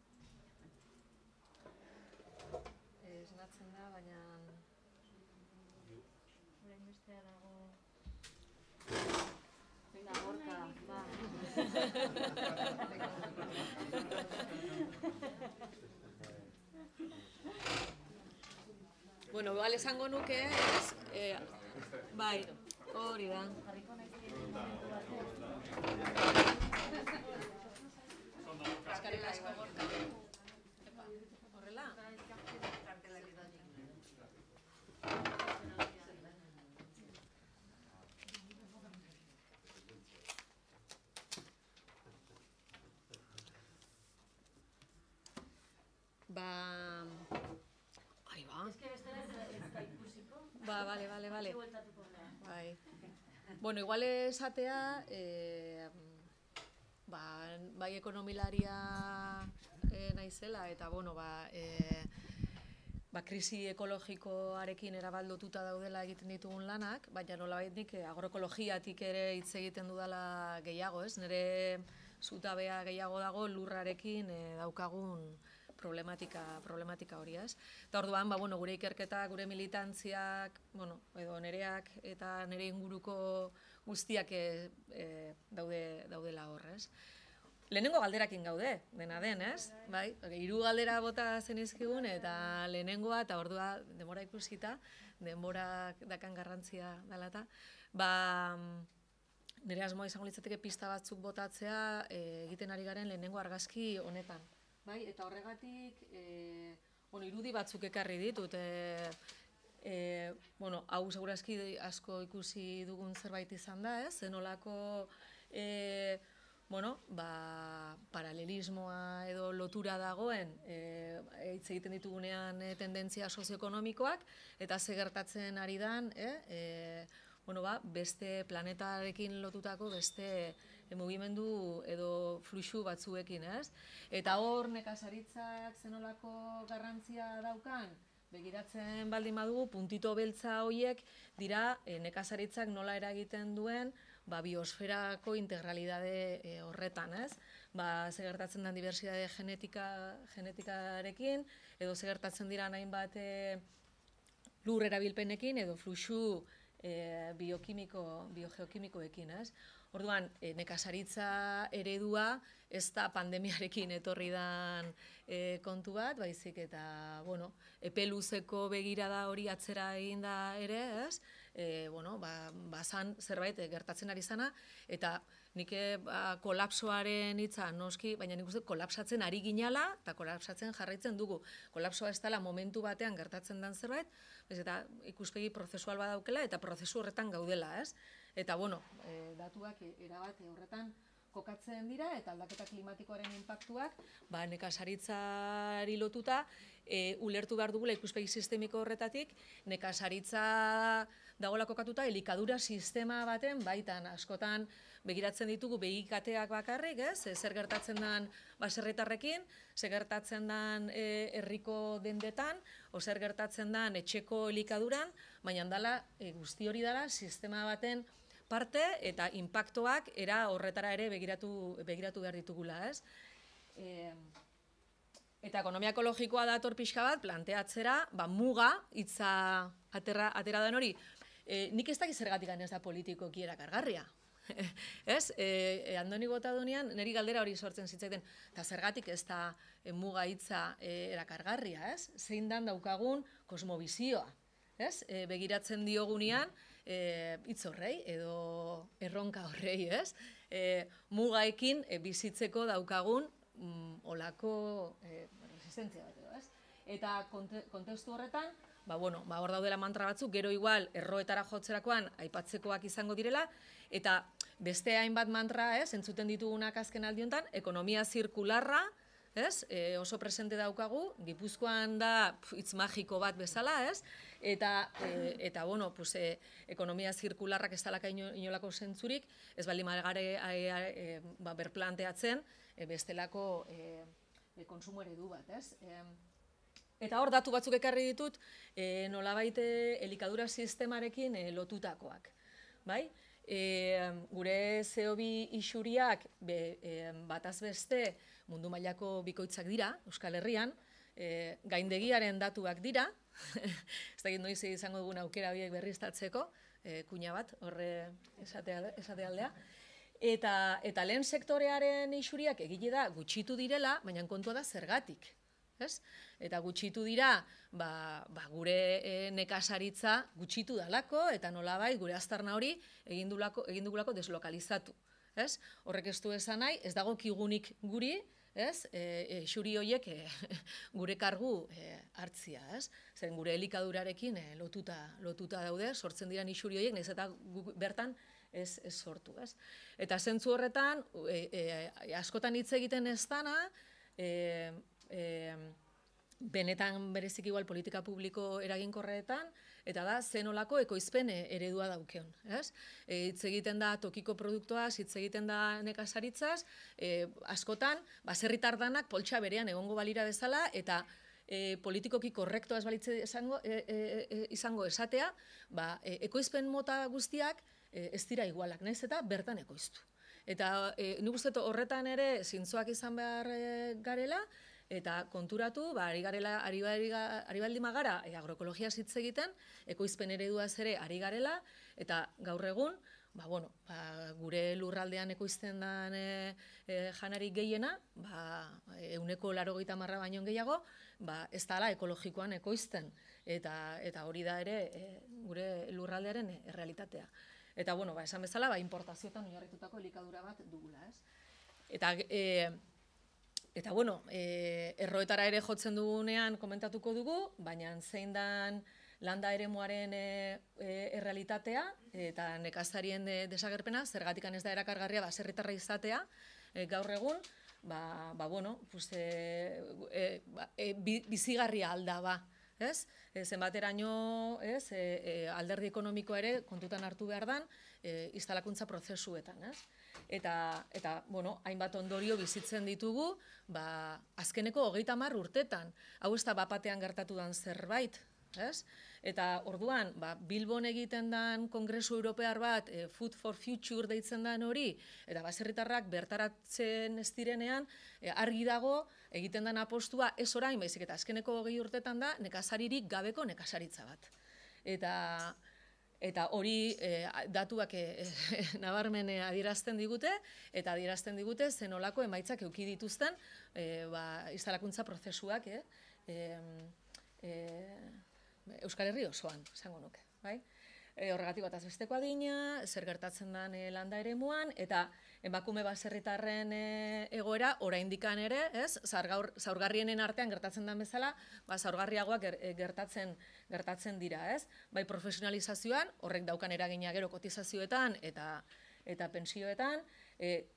Esnatzen da, baina... Orain bestea dago... Venga, Gorka, ba. Igual esango nuke, bai, hori da. Eskerrik asko Gorka. Horrela? Ai, ba. Ba, bale. Bai. Bueno, igual esatea, bai ekonomilaria naizela, eta, bueno, krisi ekologikoarekin erabaldotuta daudela egiten ditugun lanak, baina nolabait nik agroekologiatik ere hitz egiten dudala gehiago, ez? Nire zutabea gehiago dago lurrarekin daukagun problematika hori, ez? Eta orduan, gure ikerketa, gure militantziak, edo nereak eta nire inguruko guztiak daudela hor, ez? Lehenengo galderakin gaude, dena den, ez? Bai, 3 galdera bota zenizkigun eta lehenengoa, eta ordua denbora ikusita, denborak dakan garrantzia dela eta, nire asmoa izango litzateke pista batzuk botatzea egiten ari garen lehenengo argazki honetan. Bai, eta horregatik, irudi batzuk ekarri ditut. Hau segurazki asko ikusi dugun zerbait izan da, ez? Zenolako paralelismoa edo lotura dagoen hitz egiten ditugunean tendentzia sozioekonomikoak eta ze gertatzen ari dan beste planetarekin lotutako beste mugimendu edo fluxu batzuekin, ez? Eta hor nekazaritzak zenolako garrantzia daukan, begiratzen baldin badugu, puntito beltza horiek dira nekazaritzak nola eragiten duen biosferako integralidade horretan, ez? Ze gertatzen den diversitate genetikarekin, edo ze gertatzen dira hainbat lur erabilpenekin, edo fluxu biogeokimikoekin, ez? Orduan, nekazaritza eredua ez da pandemiarekin etorri dan kontu bat, baizik eta, epe luzeko begirada hori atzera egin da ere, ez? Bazan zerbait gertatzen ari zana, eta nik kolapsoaren hitza noski, baina nik uste kolapsatzen ari ginala, eta kolapsatzen jarraitzen dugu. Kolapsoa ez dela momentu batean gertatzen den zerbait, eta ikuspegi prozesual badaukela, eta prozesu horretan gaudela, ez? Eta, datuak erabat horretan kokatzen dira, eta aldaketa klimatikoaren inpaktuak, nekazaritzari lotuta, ulertu behar dugula ikuspegi sistemiko horretatik, nekazaritza dagoela kokatuta elikadura sistema baten baitan, askotan begiratzen ditugu begikateak bakarrik, ez? Zer gertatzen den baserritarrekin, zer gertatzen den herriko dendetan, o zer gertatzen den etxeko elikaduran, baina dela guzti hori dela sistema baten parte eta inpaktoak era horretara ere begiratu behar ditugula, ez? Eta ekonomia ekologikoa dator pixka bat planteatzera, muga hitza atera den hori. Nik ez dakit zergatik ez da politikoki erakargarria. Ez? Andoni Botadunean niri galdera hori sortzen zitzaiten, eta zergatik ez da muga hitza erakargarria, ez? Zein dan daukagun kosmobizioa, ez? Begiratzen diogunean hitz horrei edo erronka horrei, ez? Mugaekin bizitzeko daukagun olako resistentzia bat edo, ez? Eta kontestu horretan, hor daudela mantra batzuk, gero igual erroetara jotzerakoan aipatzekoak izango direla, eta beste hainbat mantra, ez, entzuten ditugunak azken aldi honetan, ekonomia zirkularra, ez, oso presente daukagu, Gipuzkoan da hitz magiko bat bezala, ez, eta ekonomia zirkularrak ez dalaka inolako zentzurik, ez baldin magare berplanteatzen bestelako konsumo eredu bat, ez. Eta hor datu batzuk ekarri ditut nolabait elikadura sistemarekin lotutakoak, bai? Gure CO2 isuriak bataz beste mundu mailako bikoitzak dira, Euskal Herrian, gaindegiaren datuak dira, ez dakit noiz izango dugun aukera horiek berriztatzeko, kuña bat, horre esate aldea. Eta lehen sektorearen isuriak egile da gutxitu direla, baina kontua da zergatik. Eta gutxitu dira gure nekazaritza gutxitu dalako, eta nolabait gure aztarna hori egin dugulako deslokalizatu. Horrek ez du esan nahi, ez dago kigunik guri, xuri horiek gure kargu hartzia, ez? Zen gure elikadurarekin lotuta daude, sortzen diren xuri horiek, nahiz eta bertan ez sortu, ez? Eta zentzu horretan, askotan hitz egiten ez dana, benetan berezik igual politika publiko eraginkorretan, eta da, zenolako ekoizpen eredua daukeon, ez? Hitz egiten da tokiko produktuaz, hitz egiten da nekazaritzaz, askotan, baserritar danak poltsa berean egongo balira bezala, eta politikoki korrektoaz balitze izango esatea, ekoizpen mota guztiak ez dira igualak, nahiz eta bertan ekoiztu. Eta nik uste horretan ere zintzoak izan behar garela, eta konturatu, ari baldin magara agroekologiaz hitz egiten, ekoizpen ereduaz ere ari garela, eta gaur egun, gure lurraldean ekoizten den janari gehiena, 80% baino gehiago, ez dala ekologikoan ekoizten, eta hori da ere gure lurraldearen errealitatea. Eta, esan bezala, importazioetan oinarritutako elikadura bat dugula, ez? Eta, erroetara ere jotzen dugunean komentatuko dugu, baina zein dan landa eremuaren errealitatea eta nekazarien desagerpena, zergatikan ez da erakargarria baserritarra izatea, gaur egun, bizigarria alda ba, ez? Zenbateraino, alderdi ekonomikoa ere kontutan hartu behar dan, instalakuntza prozesuetan, ez? Eta, hainbat ondorio bizitzen ditugu, azkeneko 30 urtetan, hau ez da bapatean gertatu dan zerbait, ez? Eta orduan, Bilbon egiten dan Kongresu Europear bat, Food for Future deitzen dan hori, eta baserritarrak bertaratzen ez direnean, argi dago, egiten dan apostua ez orain, baizik eta azkeneko 20 urtetan da, nekazaririk gabeko nekazaritza bat. Eta hori datuak nabarmen adierazten digute, eta adierazten digute zenolako emaitzak eduki dituzten instalakuntza prozesuak Euskal Herri osoan, esango nuke. Horregatik bataz besteko adina, zer gertatzen den landa eremuan, eta emakume baserritarren egoera oraindikan ere, zaurgarrienen artean gertatzen den bezala, zaurgarriagoak gertatzen dira, ez? Bai profesionalizazioan, horrek daukan eragina gero kotizazioetan eta pentsioetan,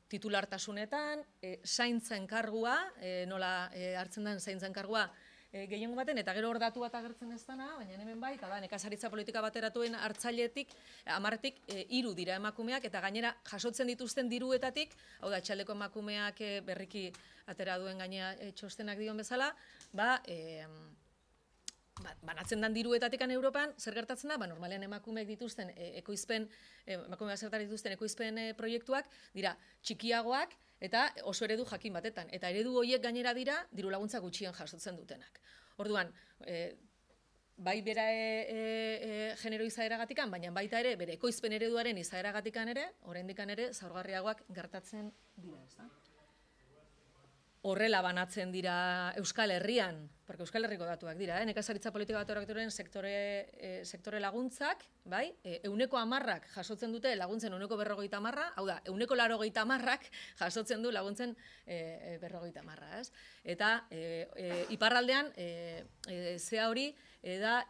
titulartasunetan, zaintzen kargua, nola hartzen den zaintzen kargua, gehiengo baten, eta gero hor datu bat agertzen ez dana, baina hemen bai, eta da, nekazaritza politika bateratuen hartzailetik, 10tik 3 dira emakumeak, eta gainera jasotzen dituzten diruetatik, hau da, etxaldeko emakumeak berriki atera duen gainea txostenak dion bezala, banatzen den diruetatik Europan, zer gertatzen da, normalean emakumeak dituzten ekoizpen, emakume baserritar dituzten ekoizpen proiektuak, dira, txikiagoak, eta oso eredu jakin batetan. Eta eredu horiek gainera dira, diru laguntza gutxien jasotzen dutenak. Orduan, bai bera genero izaeragatikan, baina baita ere, bere ekoizpen ereduaren izaeragatikan ere, oraindikan ere, zaurgarriagoak gertatzen dira, ez da? Horrela banatzen dira Euskal Herrian, porque Euskal Herriko datuak dira, nekazaritza politika bateratuaren sektore laguntzak, bai, 10%ak jasotzen dute laguntzen 50%, hau da, 80%ak jasotzen du laguntzen 50%, ez? Eta iparraldean, zea hori, da,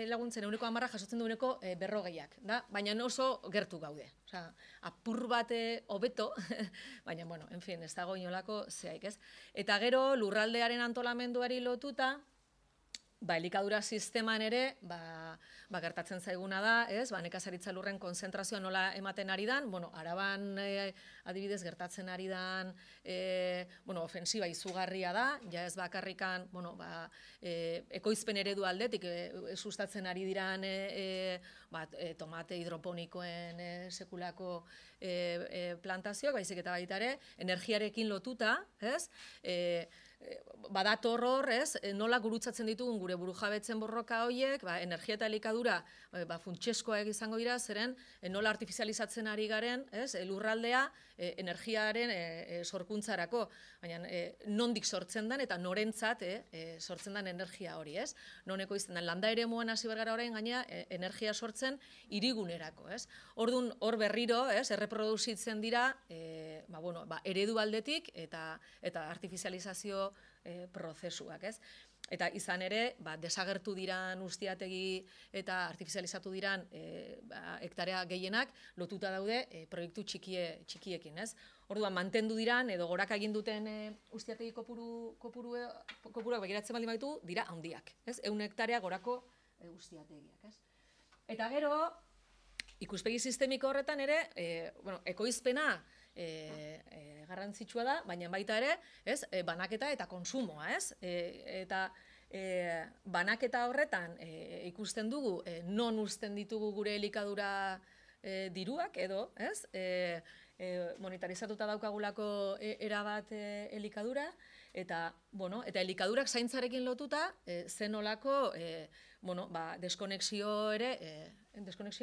laguntzen 10% jasotzen du 40%ak, da? Baina oso gertu gaude. Apur bat hobeto, baina, en fin, ez dago inolako zehaik, ez? Eta gero, lurraldearen antolamenduari lotuta, elikadura sisteman ere, gertatzen zaiguna da, ez? Nekazaritza lurren konzentrazioa nola ematen ari dan, Araban adibidez gertatzen ari dan, ofensiba izugarria da, ja ez bakarrikan, ekoizpen eredu aldetik sustatzen ari diran tomate hidroponikoen sekulako plantazioak, baizik eta baita ere, energiarekin lotuta, ez? badator hor, ez, nola gurutzatzen ditugun gure burujabetzen borroka horiek, energia eta elikadura funtsezkoak izango dira, zeren nola artifizializatzen ari garen, ez, lurraldea energiaren sorkuntzarako, baina nondik sortzen den eta norentzat sortzen den energia hori, ez? Noneko izten den, landa ere moan hasi bergara orain gaina energia sortzen irigunerako, ez? Orduan, hor berriro, ez, erreproduzitzen dira, eredu aldetik eta artifizializazio prozesuak, ez? Eta izan ere, desagertu diran ustiategi eta artifizializatu diran hektarea gehienak lotuta daude proiektu txikiekin, ez? Orduan, mantendu diran edo goraka egin duten ustiategi kopuruak begiratzen baldin baditu, dira handiak, ez? 100 hektarea gorako ustiategiak, ez? Eta gero, ikuspegi sistemiko horretan ere, ekoizpena garrantzitsua da, baina baita ere, ez, banaketa eta konsumoa, ez? Eta banaketa horretan ikusten dugu non uzten ditugu gure elikadura diruak edo, ez? Monetarizatuta daukagulako erabat elikadura, eta elikadurak zaintzarekin lotuta zenolako deskonexioa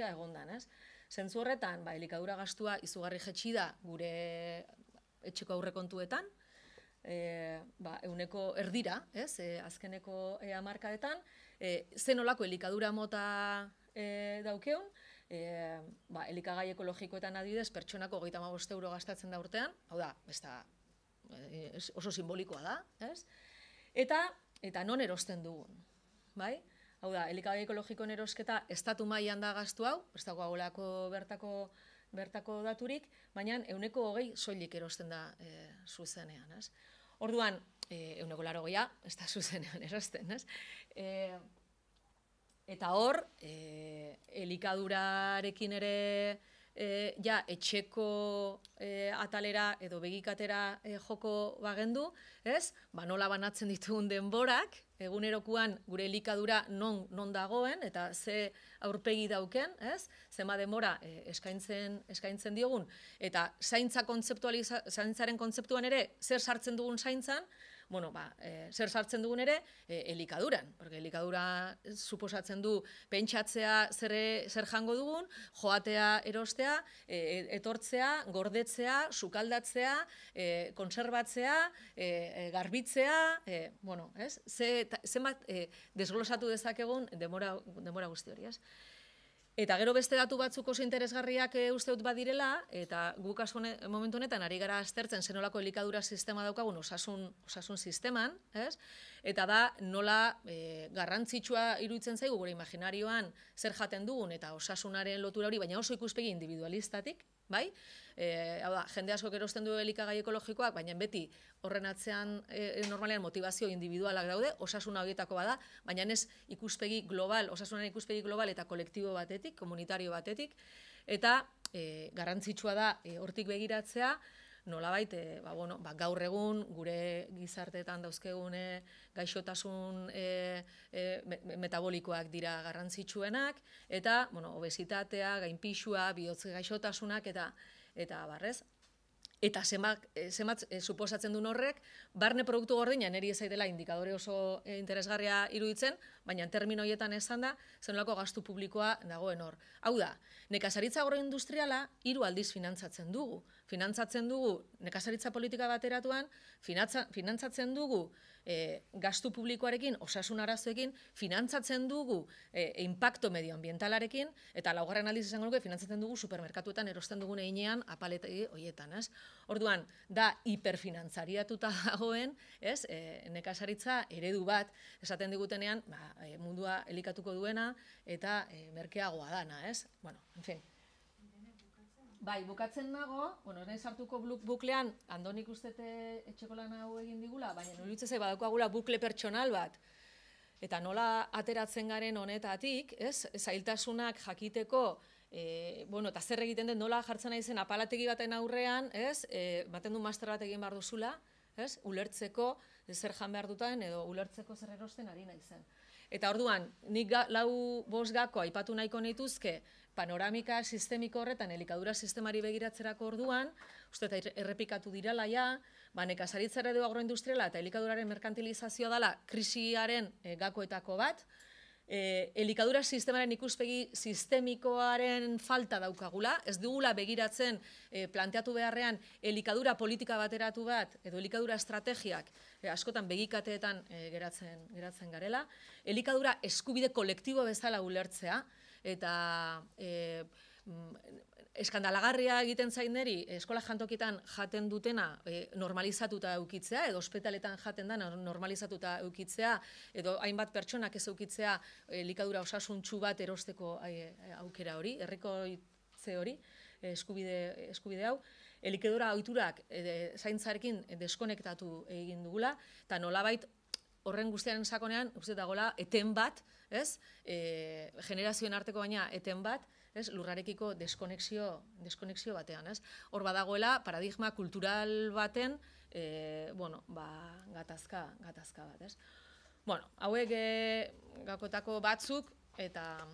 egondan, ez? Zentzu horretan, elikadura gastua izugarri jetxi da gure etxeko aurrekontuetan, 100 erdira, ez, azkeneko hamarkadetan, zenolako elikadura mota daukeun, elikagai ekologikoetan adibidez, pertsonako 35 euro gastatzen da urtean, hau da, oso simbolikoa da, ez? Eta non erosten dugun, bai? Hau da, elikagai ekologikoen erosketa estatu mailan da gastu hau, ez dago agolako bertako daturik, baina 120 soilik erosten da zuzenean, ez? Orduan, 180 ez da zuzenean erosten, ez? Eta hor, elikadurarekin ere etxeko atalera edo begikatera joko bagendu, ez? Nola banatzen ditugun denborak, egunerokoan gure elikadura non dagoen eta ze aurpegi dauken, ez? Zema denbora eskaintzen diogun, eta zaintzaren kontzeptuan ere zer sartzen dugun zaintzan, zer sartzen dugun ere elikaduran, porque elikadura suposatzen du pentsatzea zer jango dugun, joatea erostea, etortzea, gordetzea, sukaldatzea, konserbatzea, garbitzea, zenbat desglosatu dezakegun denbora guzti hori, ez? Eta gero beste datu batzuk oso interesgarriak uste dut badirela, eta guk momentu honetan ari gara aztertzen zenolako elikadura sistema daukagun osasun sisteman, ez? Eta da nola garrantzitsua iruditzen zaigu gure imaginarioan zer jaten dugun eta osasunaren lotura hori, baina oso ikuspegi individualistatik, bai? Hau da, jende asko erosten du elikagai ekologikoak, baina beti horren atzean normalean motivazio individualak daude, osasuna horietako bada, baina ez ikuspegi global, osasunaren ikuspegi global eta kolektibo batetik, komunitario batetik, eta garrantzitsua da hortik begiratzea, nolabait, gaur egun gure gizarteetan dauzkegun gaixotasun metabolikoak dira garrantzitsuenak, eta obesitatea, gainpixua, bihotz gaixotasunak, eta barrez. Eta zenbat suposatzen duen horrek, barne produktu gordina niri ez zaidela indikadore oso interesgarria iruditzen, baina termino horietan esan da, zenolako gastu publikoa dagoen hor. Hau da, nekazaritza agroindustriala 3 aldiz finantzatzen dugu. Finantzatzen dugu nekazaritza politika bateratuan, finantzatzen dugu gastu publikoarekin, osasun arazoekin, finantzatzen dugu inpakto medioambientalarekin, eta laugarren aldiz izango nuke finantzatzen dugu supermerkatuetan erosten dugun heinean apaletegi horietan, ez? Orduan, da hiperfinantzariatuta dagoen, ez? Nekazaritza eredu bat esaten digutenean, mundua elikatuko duena eta merkeagoa dana, ez? Bueno, en fin. Bai, bukatzen nago, ez sartuko buklean, Andonik ustete etxeko lan hau egin digula, baina nolitze zei badaukagula bukle pertsonal bat, eta nola ateratzen garen honetatik, ez, zailtasunak jakiteko, eta zer egiten den nola jartzen nahi zen apalategi baten aurrean, ez, baten du master bat egin behar duzula, ez, ulertzeko zer jan behar duten edo ulertzeko zer erosten ari nahi zen. Eta orduan, nik lau bost gako aipatu nahiko nituzke, panoramika sistemiko horretan, elikadura sistemari begiratzerako orduan, uste eta errepikatu dirala ja, nekazaritza eredu agroindustriala eta elikaduraren merkantilizazioa dela krisiaren gakoetako bat, elikadura sistemaren ikuspegi sistemikoaren falta daukagula, ez dugula begiratzen planteatu beharrean elikadura politika bateratu bat edo elikadura estrategiak askotan begikateetan geratzen garela, elikadura eskubide kolektibo bezala ulertzea eta eskandalagarria egiten zaineri eskola jantokietan jaten dutena normalizatuta eukitzea, edo ospitaletan jaten dena normalizatuta eukitzea, edo hainbat pertsonak ez eukitzea elikadura osasuntsu bat erosteko aukera hori, herrikoitze hori, eskubide hau, elikadura ohiturak zaintzarekin deskonektatu egin dugula, eta nolabait horren guztiaren sakonean, uste dagoela, eten bat, generazioen arteko baina eten bat, lurrarekiko deskonexio batean. Hor badagoela, paradigma kultural baten gatazka bat. Hauek gakoetako batzuk, eta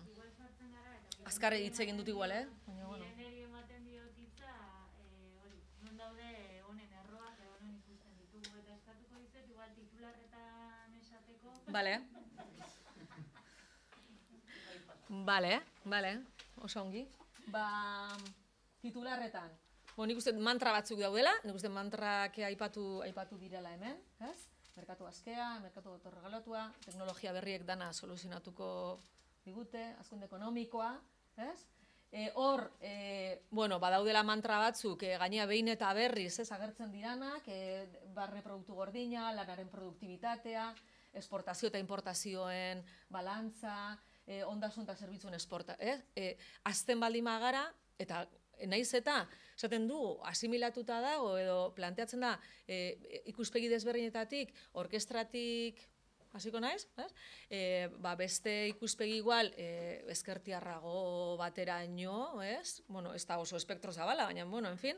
azkarre hitz egin dut igual, Niri ematen diotitza, non daude honen erroak, edo non ikusten ditugu, eta eskatuko dizet, igual titularretan esateko. Bale, oso ongi. Titularretan. Nik uste mantra batzuk daudela, nik uste mantrak aipatu direla hemen, ez? Merkatu askea, merkatu autorregalatua, teknologia berriek dana soluzionatuko digute, hazkunde ekonomikoa, ez? Hor, badaudela mantra batzuk, gainea behin eta berriz, agertzen diranak, barne produktu gordina, lanaren produktibitatea, esportazio eta importazioen balantza, ondasun eta zerbitzuen esporta. Azten baldin magara, eta naiz eta, esaten du, asimilatuta dago, edo planteatzen da, ikuspegi desberdinetatik, orkestratik, hasiko naiz, beste ikuspegi igual, ezkertiarrago bateraino, ez da oso espektro zabala, baina, en fin,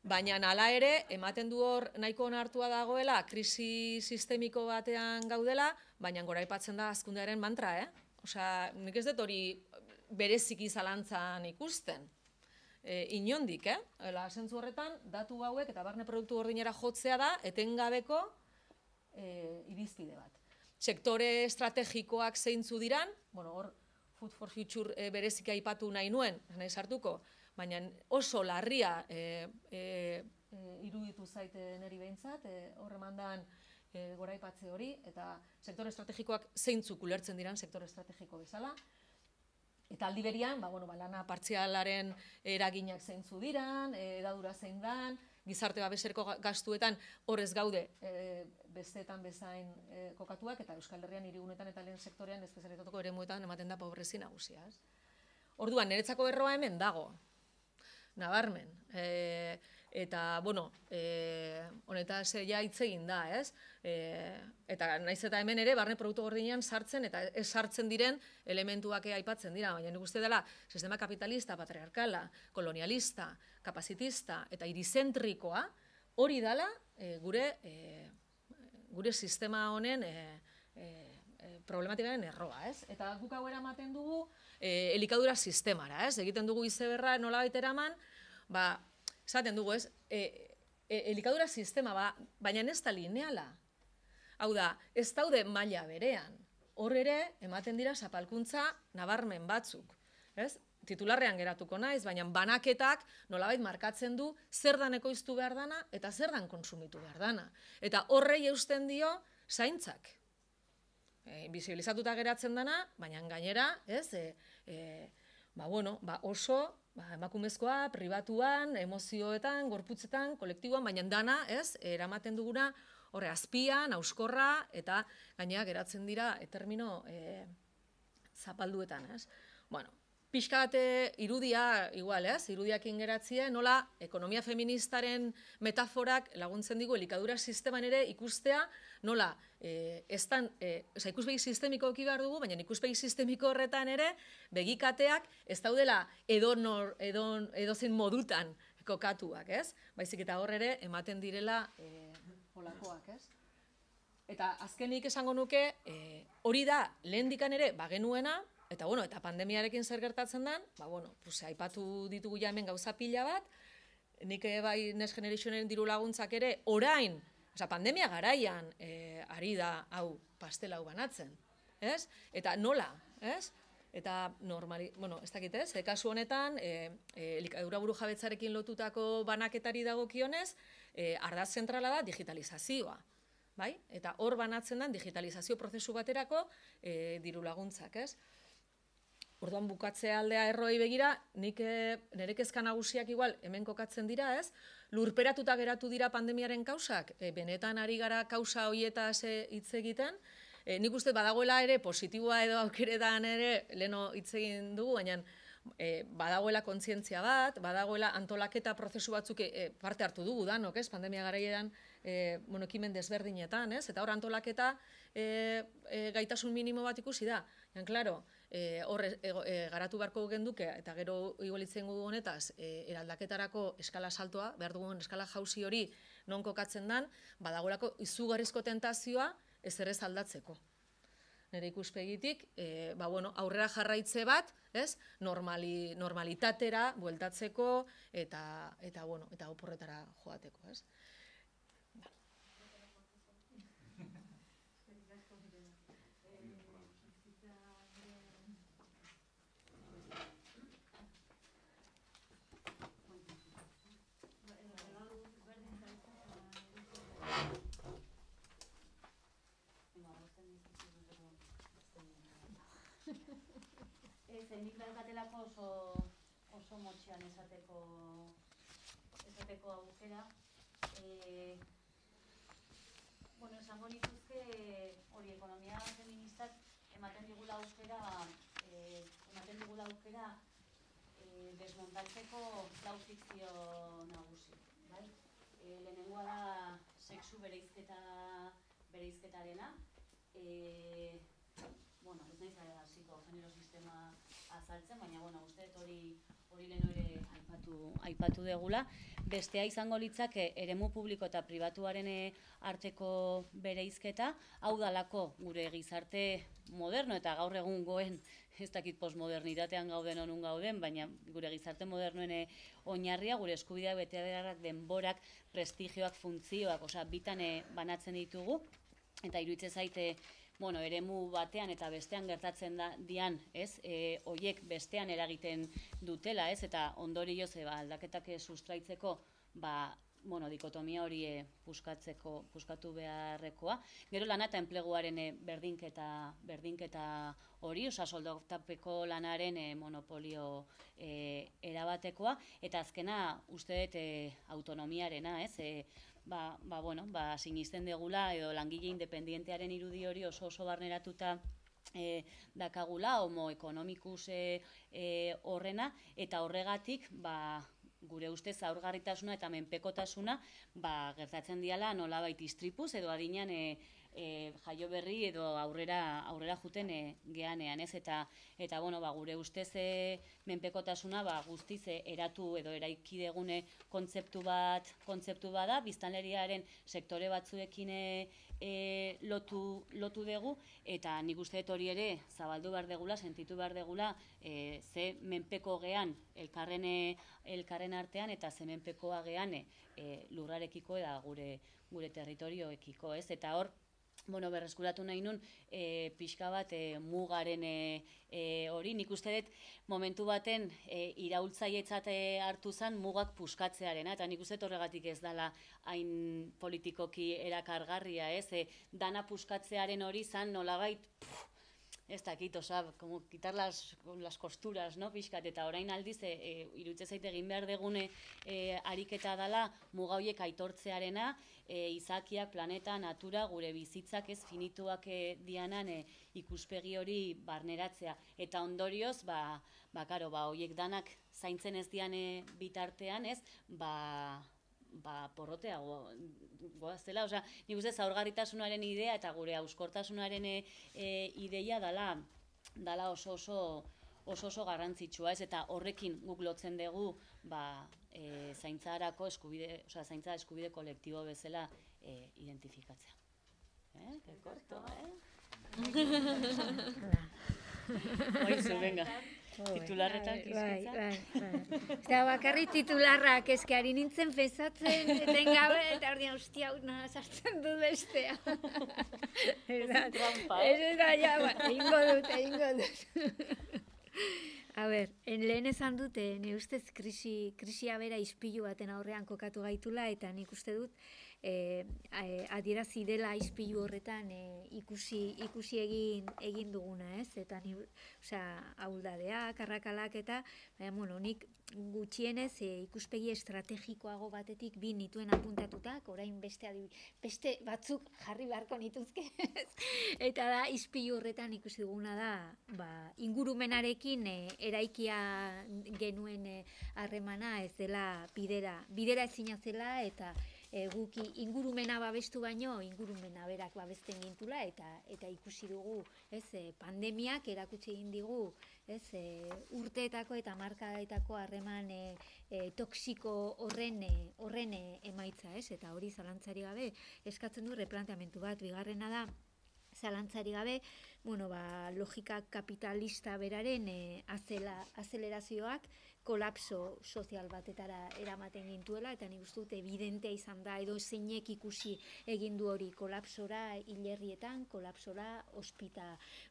baina hala ere, ematen du hor nahiko onartua dagoela, krisi sistemiko batean gaudela, baina gora aipatzen da hazkundearen mantra, Osea, nik ez dut hori bereziki zalantzan ikusten. Inondik, zentzu horretan, datu hauek eta barne produktu gordinera jotzea da, etengabeko irizpide bat. Sektore estrategikoak zeintzu diran, hor Food for Future bereziki aipatu nahi nuen, nahi sartuko, baina oso larria iruditu zaite neri behintzat, hor emandan gora aipatze hori, eta sektore estrategikoak zeintzuk ulertzen diran sektore estrategiko bezala. Eta aldi berian, lana partzialaren eraginak zeintzu diran, edadura zein dan, gizarte babeserko gastuetan horrez gaude besteetan bezain kokatuak, eta Euskal Herrian hirigunetan eta lehen sektorean espezialitateko eremuetan ematen da pobrezi nagusia. Orduan, niretzako erroa hemen dago, nabarmen. Eta, honetaz ja hitz egin da, ez? Eta naiz eta hemen ere, barne produktu gordinean sartzen, eta ez sartzen diren elementuak aipatzen dira, baina nik uste dela, sistema kapitalista, patriarkala, kolonialista, kapazitista, eta irizentrikoa, hori dela gure sistema honen problematikaren erroa, ez? Eta guk hau eramaten dugu elikadura sistemara, ez? Egiten dugu izeberra nolabait eraman, esaten dugu, ez? Elikadura sistema, baina ez da lineala. Hau da, ez daude maila berean. Hor ere, ematen dira zapalkuntza nabarmen batzuk, ez? Titularrean geratuko naiz, baina banaketak nolabait markatzen du zer dan ekoiztu behar dana eta zer dan konsumitu behar dana. Eta horrei eusten dio zaintzak. Invisibilizatuta geratzen dana, baina gainera, ez? Oso emakumezkoa, pribatuan, emozioetan, gorputzetan, kolektiboan, baina dana, ez? Eramaten duguna horre azpian, auskorra, eta gainera geratzen dira termino zapalduetan, ez? Pixka bat irudia, igual, ez? Irudiakin geratzea, nola ekonomia feministaren metaforak laguntzen digu elikadura sisteman ere ikustea, nola ikuspegi sistemiko eki behar dugu, baina ikuspegi sistemiko horretan ere begikateak ez daudela edozein modutan kokatuak, ez? Baizik eta hor ere ematen direla olakoak, ez? Eta azkenik esango nuke, hori da lehendikan ere bagenuena, eta bueno, eta pandemiarekin zer gertatzen den, aipatu ditugu ja hemen gauza pila bat, nik bai Next Generationen diru laguntzak ere orain, pandemia garaian ari da hau pastela hau banatzen, ez? Eta nola, ez? Eta ez dakit ez, kasu honetan, elikadura burujabetzarekin lotutako banaketari dagokionez, ardatz zentrala da digitalizazioa. Bai? Eta hor banatzen den digitalizazio prozesu baterako diru laguntzak, ez? Orduan bukatze aldea erroi begira, nire kezka nagusiak igual hemen kokatzen dira, ez? Lurperatuta geratu dira pandemiaren kausak, benetan ari gara kausa horietaz hitz egiten, nik uste badagoela ere positiboa edo aukeretan ere leheno hitz egin dugu, baina badagoela kontzientzia bat, badagoela antolaketa prozesu batzuk parte hartu dugu danok, ez? Pandemia garaieran ekimen desberdinetan, ez? Eta hor antolaketa gaitasun minimo bat ikusi da. Klaro, hor garatu beharko genduke, eta gero igualitzen dugu honetaz, eraldaketarako eskala saltoa, behar dugun eskala jauzi hori non kokatzen dan, badagoelako izugarrizko tentazioa ezer ez aldatzeko. Nire ikuspegitik, aurrera jarraitze bat, normalitatera bueltatzeko eta oporretara joateko, ez? Nik daukatelako oso motxean esateko aukera. Esango nituzke hori ekonomia feministak ematen digula aukera desmontatzeko lau fikzio nagusi. Lehenengoa da sexu bereizketarena. Ez naiz hasiko genero sistema azaltzen, baina uste dut hori leheno ere aipatu degula. Bestea izango litzake eremu publiko eta pribatuaren arteko bereizketa, hau dalako gure gizarte moderno eta gaur egun goen, ez dakit postmodernitatean gauden honun gauden, baina gure gizarte modernoen oinarria, gure eskubideak, betebeharrak, denborak, prestigioak, funtzioak, bitan banatzen ditugu, eta iruditzen zaite eremu batean eta bestean gertatzen dian, horiek bestean eragiten dutela, eta ondorioz aldaketak sustraitzeko, dikotomia hori puskatu beharrekoa. Gero lana eta enpleguaren berdinketa hori, soldatapeko lanaren monopolio erabatekoa, eta azkena uste dut autonomiarena, sinisten degula edo langile independientearen irudi hori oso barneratuta dakagula, homo ekonomikus horrena, eta horregatik gure ustez zaurgarritasuna eta menpekotasuna gertatzen diala nolabait istripuz edo adinean jaio berri edo aurrera juten geanean, eta gure ustez menpekotasuna guztiz eratu edo eraiki degune kontzeptu bat da, biztanleriaren sektore batzuekin lotu dugu, eta nik uste dut hori ere zabaldu behar degula, sentitu behar degula, ze menpeko gean elkarren artean eta ze menpekoa gean lurrarekiko eta gure territorioekiko, eta hor, berreskuratu nahi nun pixka bat mugaren hori. Nik uste dut momentu baten iraultzaietzat hartu zen mugak puskatzearena, eta nik uste dut horregatik ez dela hain politikoki erakargarria, dana puskatzearen hori zen nolabait, ez dakit, como quitar las costuras, pixkat, eta orain aldiz, iruditzen zait egin behar degune ariketa dela muga horiek aitortzearena, izakiak, planeta, natura, gure bizitzak ez finituak dianan ikuspegi hori barneratzea. Eta ondorioz, horiek danak zaintzen ez dian bitartean, porrotea goaztela, nik uste zaurgarritasunaren idea eta gure hauskortasunaren ideia dala oso garrantzitsua, eta horrekin guk lotzen dugu zaintza eskubide kolektibo bezala identifikatzea. korto, Oizu, venga. Titularretan kizkitza. Bai. Eta bakarrik titularrak eskari nintzen fezatzen, etengabe, eta hori hostia, sartzen dut bestea. Trampa, Ez da, ja, egingo dut. A ber, lehen esan dute, nire ustez krisia bera ispilu baten aurrean kokatu gaitula, eta nik uste dut adierazi dela ispilu horretan ikusi egin duguna, ez? Eta ni, ahuldadeak, arrakalak eta, bueno, nik gutxienez ikuspegi estrategikoago batetik bi nituen apuntatutak, orain beste batzuk jarri beharko nituzke, eta da ispilu horretan ikusi duguna da, ingurumenarekin eraikia genuen harremana ez dela bidera ezina zela, eta guki ingurumena babestu baino ingurumena berak babesten gintula, eta ikusi dugu, pandemiak erakutsi egin digu, urteetako eta hamarkadetako harreman toxiko horren emaitza, eta hori zalantzari gabe eskatzen du replanteamentu bat. Bigarrena da, zalantzari gabe, logika kapitalista beraren azelerazioak kolapso sozial batetara eramaten gintuela, eta nik uste dut evidentea izan da, edo zeinek ikusi egin du hori, kolapsora hilerrietan, kolapsora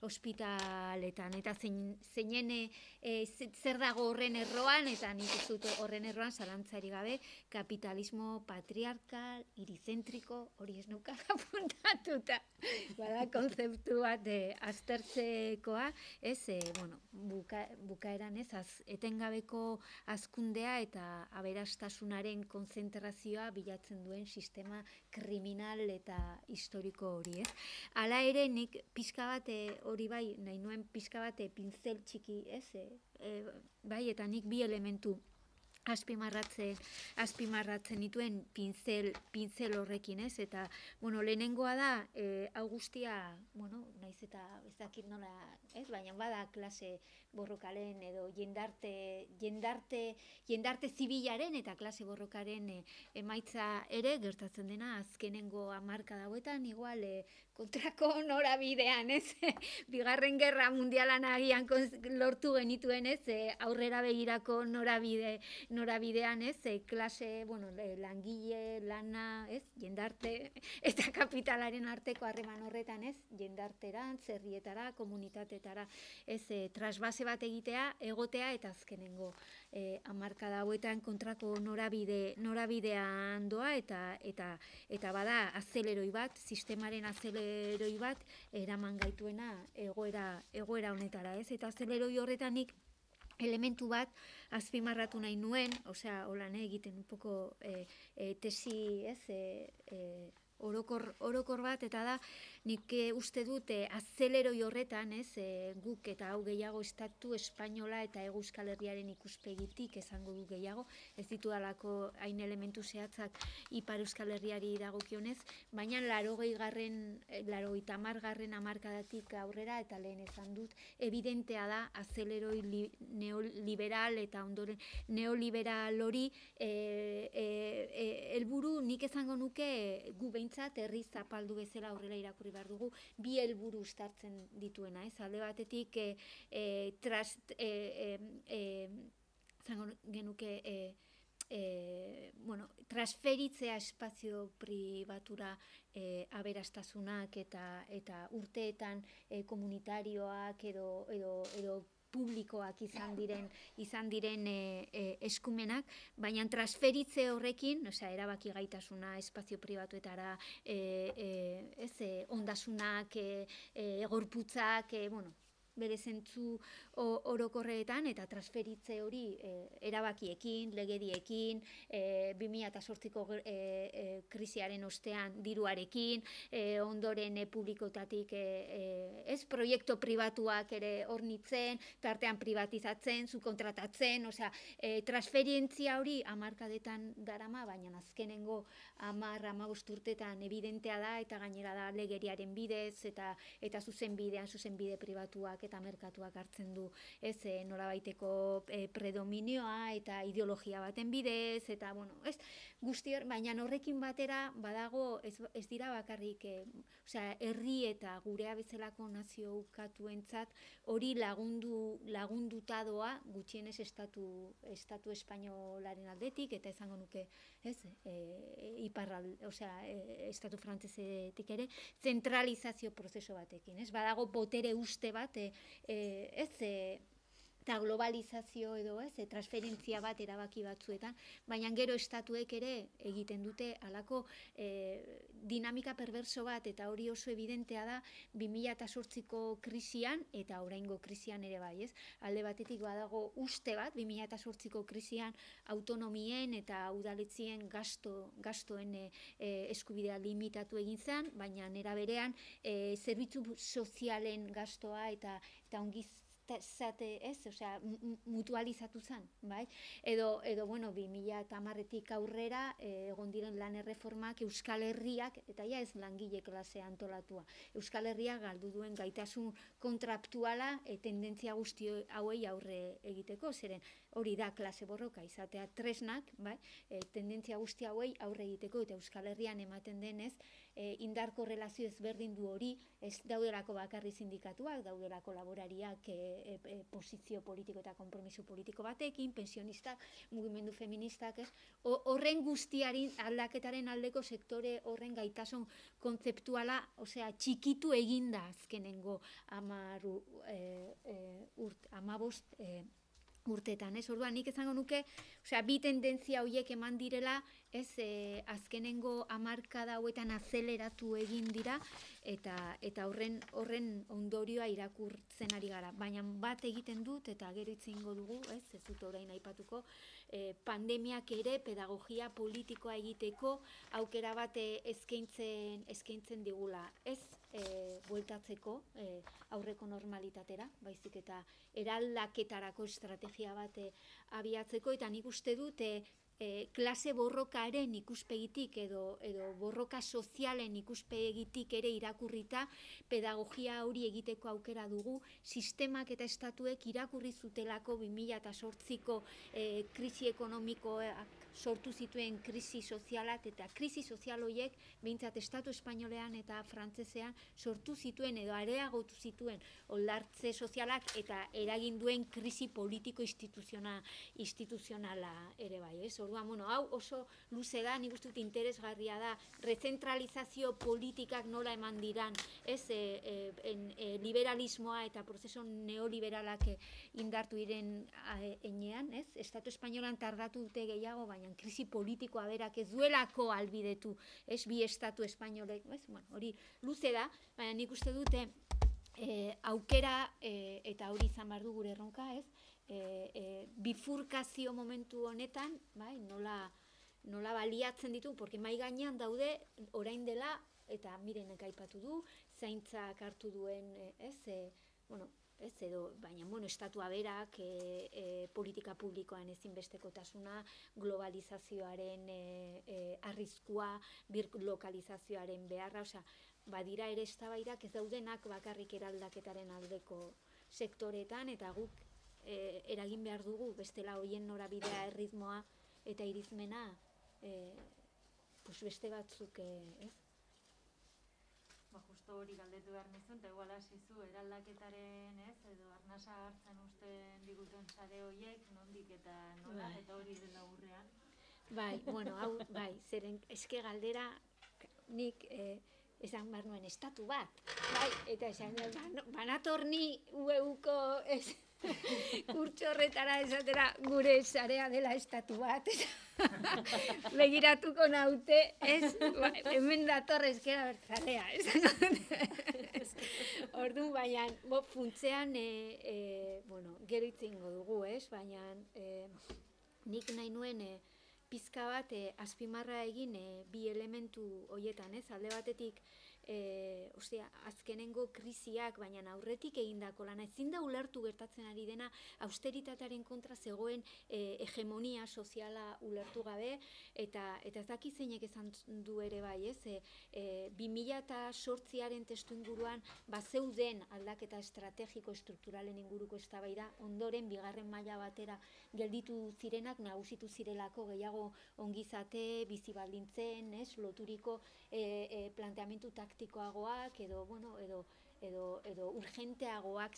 ospitaletan, eta zeinen zer dago horren erroan, eta nik uste dut horren erroan zalantzari gabe, kapitalismo patriarkal, irizentriko, hori ez nuka apuntatuta, bada konzeptu bat aztertzekoa, bukaeran etengabeko hazkundea eta aberastasunaren konzentrazioa bilatzen duen sistema kriminal eta historiko hori, ez? Hala ere, nik pixka bat, hori bai, nahi nuen pixka bat pintzel txiki, ez? Bai, eta nik bi elementu azpimarratzen dituen pintzel horrekin, ez? Eta, lehenengoa da, hau guztia, naiz eta ez dakit nola, ez? Baina bada klase borrokaren edo jendarte zibilaren eta klase borrokaren emaitza ere gertatzen dena azkenengo hamarkada hauetan, igual kontrako norabidean, ez? Bigarren Gerra Mundialan agian lortu genituen, ez? Aurrera begirako norabidean, ez? Klase, langile, lana, ez? Jendarte eta kapitalaren arteko harreman horretan, ez? Jendarterantz, herrietara, komunitatetara, ez? Trasbase bat egotea eta azkenengo hamarkada hauetan kontrako norabidean doa, eta bada azeleroi bat, sistemaren azeleroi bat eraman gaituena egoera honetara, ez? Eta azeleroi horretanik elementu bat azpimarratu nahi nuen, holan egiten un poco tesi, ez? Orokor bat, eta da, nik uste dut azeleroi horretan, guk eta hau gehiago estatu espainola eta Hego Euskal Herriaren ikuspegitik esango du gehiago, ez ditudalako hain elementu zehatzak Ipar Euskal Herriari dagokionez, baina 80. hamarkadatik aurrera, eta lehen esan dut, evidentea da azeleroi neoliberal eta ondoren neoliberal hori helburu nik esango nuke gu behintzat herri zapaldu bezala aurrera irakurri behar dugu, bi helburu uztartzen dituena, ez? Alde batetik zango genuke transferitzea espazio pribatura aberastasunak eta urteetan komunitarioak edo publikoak izan diren eskumenak, baina transferitze horrekin, erabaki gaitasuna espazio pribatuetara, ondasunak, gorputzak, bere zentzu orokorretan, eta transferitze hori erabakiekin, legediekin, 2008ko krisiaren ostean diruarekin, ondoren publikotatik proiektu pribatuak ere hornitzen, tartean privatizatzen, subkontratatzen, transferientzia hori hamarkadetan darama, baina azkenengo 10-15 urtetan evidentea da, eta gainera da legeriaren bidez, eta zuzenbide pribatuak eta merkatuak hartzen du, ez, nolabaiteko predominioa eta ideologia baten bidez, eta, bueno, ez, guzti baina horrekin batera badago ez dira bakarrik, herri eta gurea bezalako nazio ukatuentzat hori lagunduta doa gutxienez estatu espainolaren aldetik, eta izango nuke, ez, estatu frantsesetik ere, zentralizazio prozeso batekin, ez, badago botere uste bat, ez, eta globalizazio edo, ez, transferentzia bat erabaki batzuetan, baina gero estatuek ere egiten dute halako dinamika perverso bat, eta hori oso evidentea da 2008ko krisian eta oraingo krisian ere bai, ez? Alde batetik badago uste bat 2008ko krisian autonomien eta udaletzien gastoen eskubidea limitatu egin zen, baina nera berean zerbitzu sozialen gastoa eta mutualizatu zen, bai? Edo, bueno, 2010tik aurrera egon diren lan erreformak Euskal Herriak, eta ja ez langile klasea antolatua, Euskal Herriak galdu duen gaitasun kontraptuala tendentzia guzti hauei aurre egiteko, zeren hori da klase borroka izatea tresnak, bai? Tendentzia guzti hauei aurre egiteko, eta Euskal Herrian ematen denez, indar korrelazio ezberdin du hori, ez daudelako bakarri sindikatuak, daudelako laborariak posizio politiko eta konpromiso politiko batekin, pensionistak, mugimendu feministak, ez? Horren guztiaren aldaketaren aldeko sektore horren gaitasun kontzeptuala, txikitu eginda azkenengo 15 urtetan, ez? Orduan, nik esango nuke, bi tendentzia horiek eman direla, ez, azkenengo hamarkada hauetan azeleratu egin dira, eta horren ondorioa irakurtzen ari gara. Baina bat egiten dut, eta gero hitz egingo dugu, ez dut orain aipatuko, pandemiak ere pedagogia politikoa egiteko aukera bat eskaintzen digula. Ez bueltatzeko aurreko normalitatera, baizik eta eraldaketarako estrategia bat abiatzeko, eta nik uste dut klase borrokaren ikuspegitik edo borroka sozialen ikuspegitik ere irakurrita pedagogia hori egiteko aukera dugu, sistemak eta estatuek irakurri zutelako 2008ko krisi ekonomikoak sortu zituen krisi sozialak, eta krisi sozial horiek behintzat estatu espainolean eta frantsesean sortu zituen edo areagotu zituen oldartze sozialak eta eragin duen krisi politiko instituzionala ere bai, ez? Orduan, bueno, hau oso luze da, nik uste dut interesgarria da, rezentralizazio politikak nola eman diran, ez, liberalismoa eta prozeso neoliberalak indartu diren enean, ez? Estatu espainolan tardatu dute gehiago, baina krisi politikoa berak ez duelako albidetu, ez, bi estatu espainolek, ez? Bueno, hori luze da, baina nik uste dute aukera, eta hori izan behar du gure erronka, ez? Bifurkazio momentu honetan, bai, nola baliatzen ditu, porque mai gainean daude orain dela, eta mirenek aipatu du, zaintzak hartu duen, ez, bueno, ez edo, baina, bueno, estatua berak, politika publikoan ezinbestekotasuna, globalizazioaren arriskua, birlokalizazioaren beharra, badira ere eztabaidak ez daudenak bakarrik eraldaketaren aldeko sektoretan, eta guk eragin behar dugu, bestela hoien norabidea, erritmoa eta irizmena, beste batzuk, ez? Justo hori galdetu behar nizun, eta igual hasizu eraldaketaren, ez, edo arnasa hartzen usten diguten sare horiek, nondik eta nola, eta hori dela urrean. Bai, bueno, hau, bai, zeren eske galdera nik esan behar nuen estatu bat, bai, eta esan banatorni UEUko kurtso horretara esatera gure sarea dela estatu bat, begiratuko naute, ez, hemen dator ezkera bertzalea, ez? Orduan, baina, funtzean, bueno, gero itzingo dugu, ez, baina nik nahi nuen pizka bat azpimarra egin bi elementu horietan, ez, alde batetik azkenengo krisiak, baina aurretik egindako lana, ezin da ulertu gertatzen ari dena, austeritatearen kontra zegoen hegemonia soziala ulertu gabe, eta ez dakit zeinek esan du ere bai, 2008aren testu inguruan bazeuden aldaketa estrategiko estrukturalen inguruko eztabaida, ondoren bigarren maila batera gelditu zirenak nagusitu zirelako gehiago ongizate, bizi baldintzen, loturiko planteamentu taktikoagoak edo urgenteagoak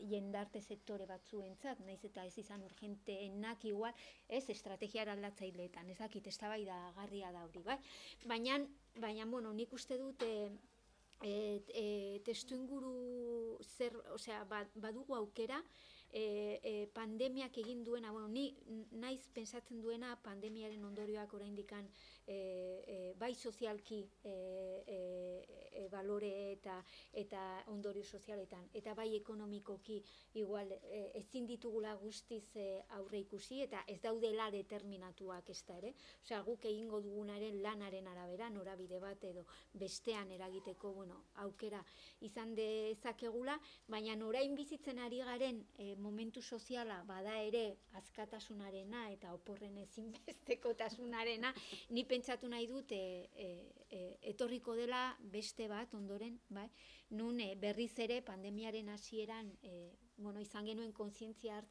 jendarte sektore batzuentzat, naiz eta ez izan urgenteenak igual, estrategia aldatzaileetan, ezakit eztabaidagarria da hori, bai? Baina, nik uste dut testuinguru badugu aukera, pandemiak egin duena, ni naiz pensatzen duena pandemiaren ondorioak oraindikan bai sozialki balore eta ondorio sozialetan, eta bai ekonomikoki igual ezin ditugula guztiz aurre ikusi, eta ez daudela determinatuak ez da ere. Guk egingo dugunaren lanaren arabera, norabide bat edo bestean eragiteko aukera izan dezakegula, baina orain bizitzen ari garen momentu soziala bada ere askatasunarena eta oporren ezinbestekotasunarena, ni pentsatu nahi dut etorriko dela beste bat ondoren, nun berriz ere pandemiaren hasieran izan genuen kontzientzia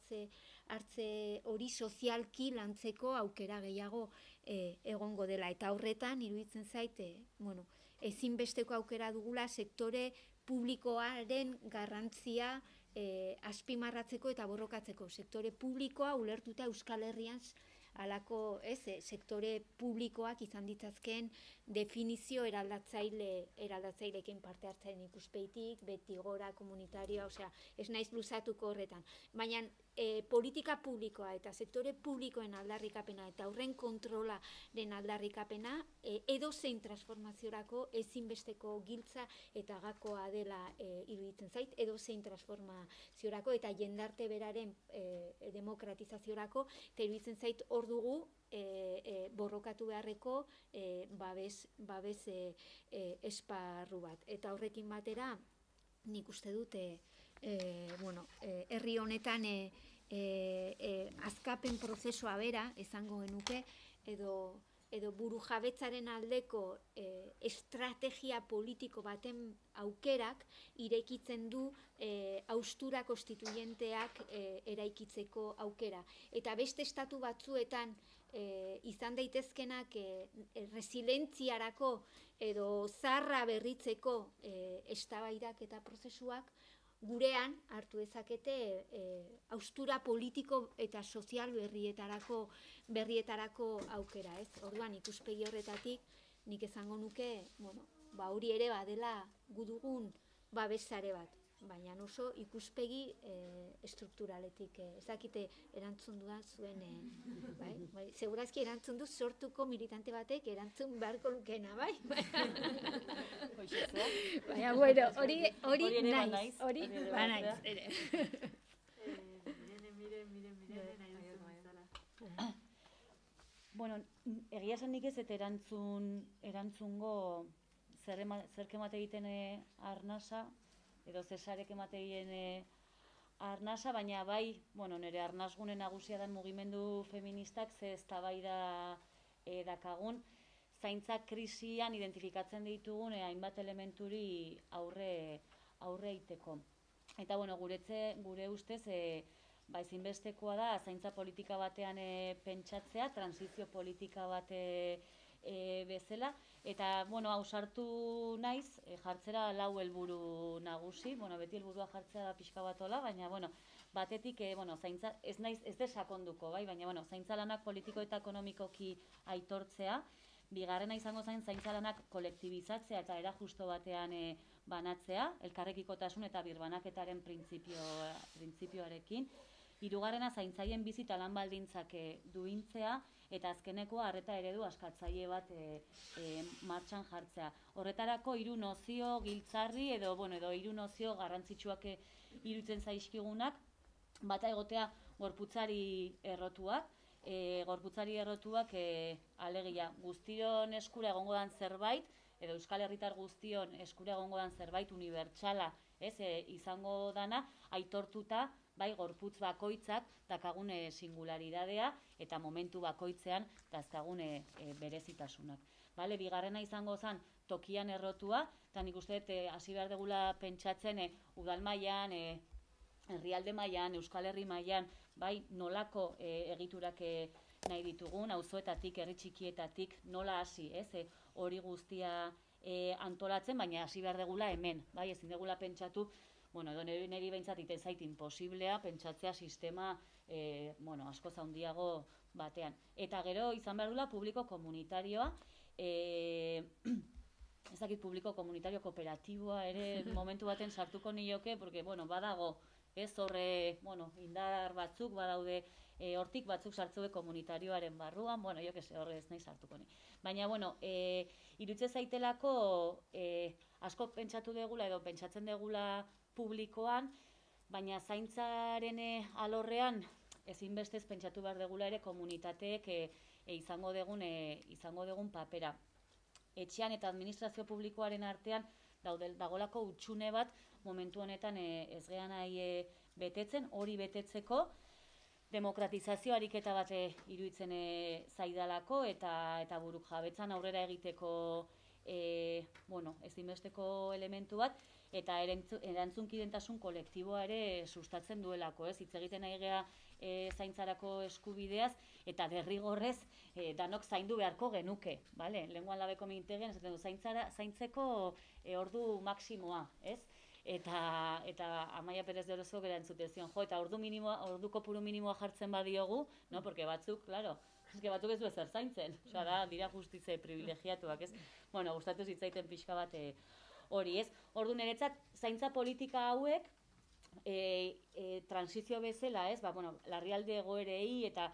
hartze hori sozialki lantzeko aukera gehiago egongo dela, eta horretan iruditzen zait ezinbesteko aukera dugula sektore publikoaren garrantzia azpimarratzeko eta borrokatzeko. Sektore publikoa ulertuta Euskal Herrian halako sektore publikoak izan ditzazkeen definizio eraldatzaileekin parte hartzen ikuspeitik, beti gora, komunitarioa, ez naiz luzatuko horretan. Baina politika publikoa eta sektore publikoen aldarrikapena eta horren kontrolaren aldarrikapena edozein transformaziorako ezinbesteko giltza eta gakoa dela iruditzen zait, edozein transformaziorako eta jendarte beraren demokratizaziorako, eta iruditzen zait hor dugu borrokatu beharreko babes esparru bat. Eta horrekin batera nik uste dute herri honetan azkapen prozesua bera esango genuke, edo buru jabetzaren aldeko estrategia politiko baten aukerak irekitzen du haustura konstituyenteak eraikitzeko aukera. Eta beste estatu batzuetan izan daitezkenak resilentziarako edo zarra berritzeko eztabaidak eta prozesuak gurean hartu dezakete haustura politiko eta sozial berrietarako aukera, ez? Orduan ikuspegi horretatik nik esango nuke, hori ere badela gudugun babesare bat, baina oso ikuspegi estrukturaletik. Ezakite erantzun dudan zuen, segurazki erantzun du sortuko militante batek erantzun beharko lukena, bai? Baina, hori naiz, hori banaiz, ere. Bueno, egia esan nik ez eta erantzungo zerk emate egiten arnasa, edo zesarek emate egiten arnasa, baina bai, nire arnasgune nagusia den mugimendu feministak ze eztabaida dakagun, zaintza krisian identifikatzen ditugun hainbat elementuri aurre egiteko. Eta gure ustez ezinbestekoa da zaintza politika batean pentsatzea, transizio politika bate bezala, eta ausartu naiz jartzera 4 helburu nagusi, beti helburua jartzea da pixka bat hola, baina batetik zaintza ez desakonduko, baina zaintza lanak politiko eta ekonomikoki aitortzea, bigarrena izango zaintza lanak kolektibizatzea eta era justo batean banatzea, elkarrekikotasun eta birbanaketaren printzipioarekin, hirugarrena zaintzaien bizi eta lan baldintzak duintzea, eta azkenekoa arreta eredu askatzaile bat martxan jartzea. Horretarako 3 nozio giltzarri edo 3 nozio garrantzitsuak iruditzen zaizkigunak, bata egotea gorputzari errotuak, alegia guztion eskura egongo dan zerbait, edo Euskal Herritar guztion eskura egongo dan zerbait unibertsala, izango dana, aitortuta, bai, gorputz bakoitzak dakagun singularidadea eta momentu bakoitzean dazkagun berezitasunak. Bale, bigarrena izango zen tokian errotua, eta nik uste hasi behar degula pentsatzen udal mailan, herrialde mailan, Euskal Herri mailan, bai, nolako egiturak nahi ditugun, auzoetatik, herri txikietatik, nola hasi, hori guztia antolatzen, baina hasi behar degula hemen, bai, ezin degula pentsatu, bueno, edo niri behintzat iten zait imposiblea pentsatzea sistema, askoz handiago batean. Eta gero izan behar dula publiko komunitarioa, ezakit publiko komunitario kooperatiboa ere momentu baten sartuko nioke, porque, badago, horre, indar batzuk badaude, hortik batzuk sartzue komunitarioaren barruan, jo que se horre ez nahi sartuko ni. Baina, irutze zaitelako asko pentsatu degula edo pentsatzen degula publikoan, baina zaintzaren alorrean ezinbestez pentsatu behar degula ere komunitateek izango degun papera. Etxean eta administrazio publikoaren artean dagolako hutsune bat momentu honetan ez gean nahi betetzen, hori betetzeko demokratizazio ariketa bat iruditzen zaidalako eta buruk jabetzan aurrera egiteko ezinbesteko elementu bat, eta erantzunkidentasun kolektiboa ere sustatzen duelako, hitz egiten nahi gea zaintzarako eskubideaz, eta derrigorrez danok zaindu beharko genuke, lehenguan labeko mintegian, esaten du, zaintzeko ordu maksimoa, eta Amaia Perez de Orozco bera entzutezion, eta ordu kopuru minimoa jartzen badiogu, porque batzuk, claro, batzuk ez du ezer zaintzen, dira justize privilegiatuak, gustatu zitzaiten pixka bat hori, Ordu niretzat, zaintza politika hauek, transizio bezala, larrialde egoerei eta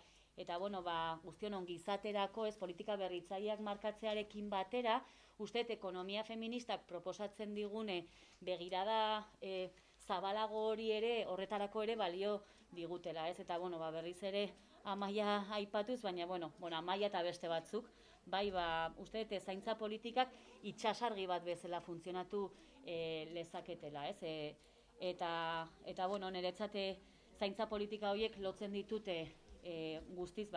guztion ongizaterako, politika berritzaileak markatzearekin batera, uste ekonomia feministak proposatzen digune begirada zabalago hori ere, horretarako ere balio digutela, eta berriz ere Amaia aipatuz, baina Amaia eta beste batzuk, uste zaintza politikak itxasargi bat bezala funtzionatu lezaketela, eta niretzate zaintza politika horiek lotzen ditute guztiz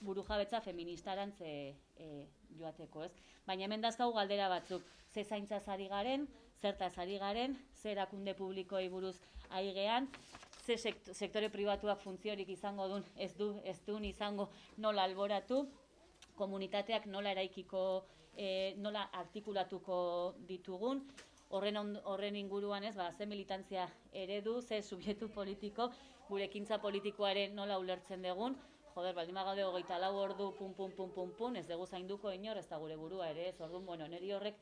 burujabetza feministarantz joateko, baina hemen dazkau galdera batzuk, ze zaintzaz ari garen, zertaz ari garen, ze erakunde publikoei buruz ari gean, ze sektore pribatuak funtziorik izango duen, ez duen izango nola alboratu, komunitateak nola eraikiko, nola artikulatuko ditugun, horren inguruan ze militantzia eredu, ze subjektu politiko, gure ekintza politikoaren nola ulertzen dugun, baldin bagaude 24 ordu, pun, ez dugu zainduko inor, ez da gure burua ere, orduan, niri horrek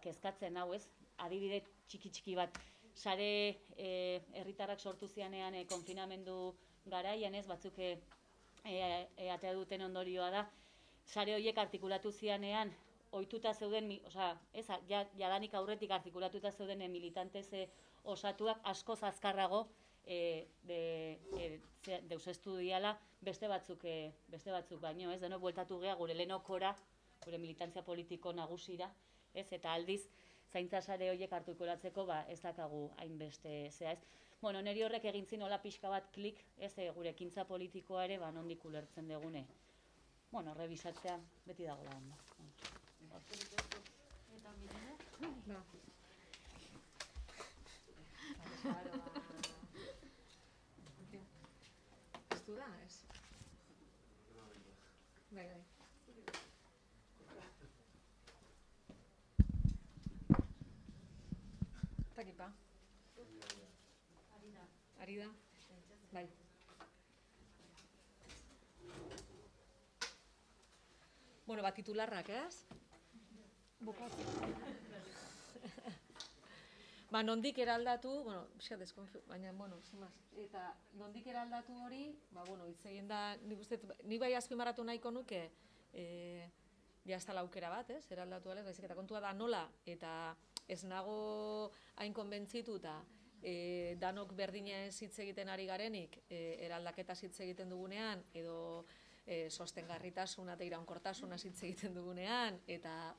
kezkatzen hau, adibide txiki bat, sare herritarrak sortu zianean konfinamendu garaian, batzuk atea duten ondorioa da, sare horiek artikulatu zianean, ohituta zeuden, jadanik aurretik artikulatuta zeuden militantez osatuak askoz azkarrago deusestu diala beste batzuk baino, denok bueltatu gea gure lehenokora, gure militantzia politiko nagusira, eta aldiz zaintza sare horiek artikulatzeko ez dakagu hainbeste zea, niri horrek egin zin hola pixka bat klik, gure ekintza politikoa ere nondik ulertzen degune. Rebisatzea beti dago da ondo. Eta Mirene? Ez du da, ez? Bai. Takipa. Ari da? Bai. Titularrak, ez? Bukatzen. Nondik eraldatu, baina, eta nondik eraldatu hori, hitz egin da, nik bai azpimarratu nahiko nuke, jazta laukera bat, eraldatu alez, baizik eta kontua da nola, eta ez nago hain konbentzitu eta danok berdinez hitz egiten ari garenik, eraldaketa hitz egiten dugunean, edo sostengarritasuna eta iraunkortasuna hitz egiten dugunean, eta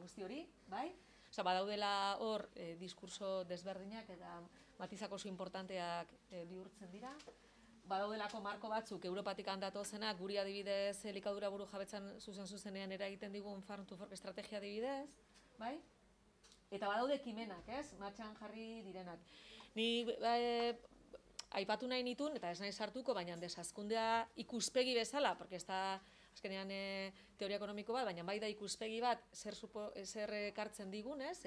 guzti hori, bai? Osa, badaudela hor diskurso desberdinak eta matizak oso importanteak bihurtzen dira. Badaudelako marko batzuk Europatik handatozenak, guri adibidez elikadura buru jabetzan zuzenean eragiten digun Farm to Fork estrategia adibidez, bai? Eta badaude ekimenak, ez? Martxan jarri direnak. Ni aipatu nahi nituen, eta ez nahi sartuko, baina desazkundea ikuspegi bezala, porque ez da azkenean teoria ekonomiko bat, baina bai da ikuspegi bat zer ekartzen digun, ez?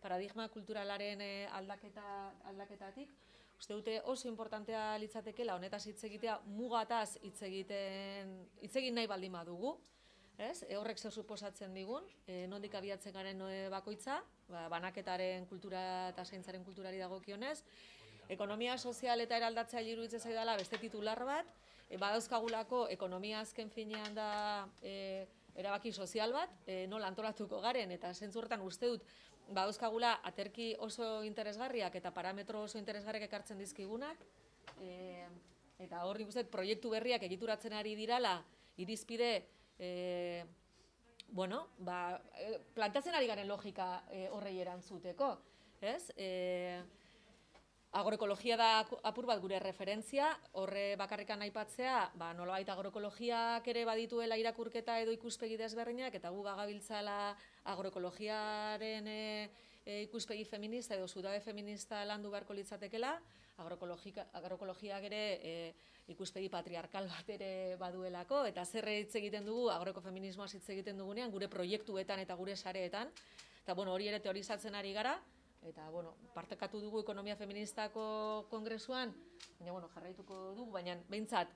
Paradigma kulturalaren aldaketatik. Uste dute oso importantea litzatekeela honetaz hitz egitea, mugataz hitz egin nahi baldin badugu, ez? Horrek zer suposatzen digun, nondik abiatzen garen bakoitza, banaketaren kultura eta zaintzaren kulturari dagokionez, ekonomia sozial eta eraldatzea iruditzen zaidala beste titular bat, badauzkagulako ekonomia azken finean da erabaki sozial bat, nola antolatuko garen, eta zentzu horretan uste dut badauzkagula aterki oso interesgarriak eta parametro oso interesgarriak ekartzen dizkigunak, eta hor nik uste dut proiektu berriak egituratzen ari dirala, irizpide, plantatzen ari garen logika horrei erantzuteko, ez? Agroekologia da apur bat gure referentzia, horre bakarrikan aipatzea, nolabait agroekologiak ere badituela irakurketa edo ikuspegi desberdinak, eta gu bagabiltzala agroekologiaren ikuspegi feminista edo zutabe feminista landu beharko litzatekela, agroekologiak ere ikuspegi patriarkal bat ere baduelako, eta zer hitz egiten dugu agroekofeminismoaz hitz egiten dugunean, gure proiektuetan eta gure sareetan, eta hori ere teorizatzen ari gara, eta, partekatu dugu ekonomia feministako kongresuan, baina, jarraituko dugu, baina, behintzat,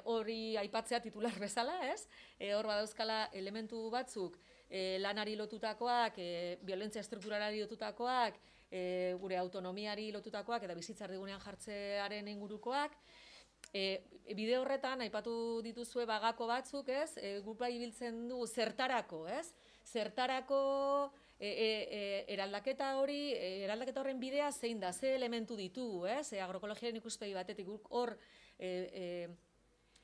hori aipatzea titular bezala, ez? Hor badauzkala elementu batzuk, lanari lotutakoak, violentzia estrukturalari lotutakoak, gure autonomiari lotutakoak, eta bizitzar digunean jartzearen ingurukoak. Bide horretan, aipatu dituzue bagako batzuk, ez? Gupa ibiltzen dugu zertarako, ez? Zertarako eraldaketa horren bidea zein da, ze elementu ditugu, ez? Agroekologiaren ikuspegi batetik hor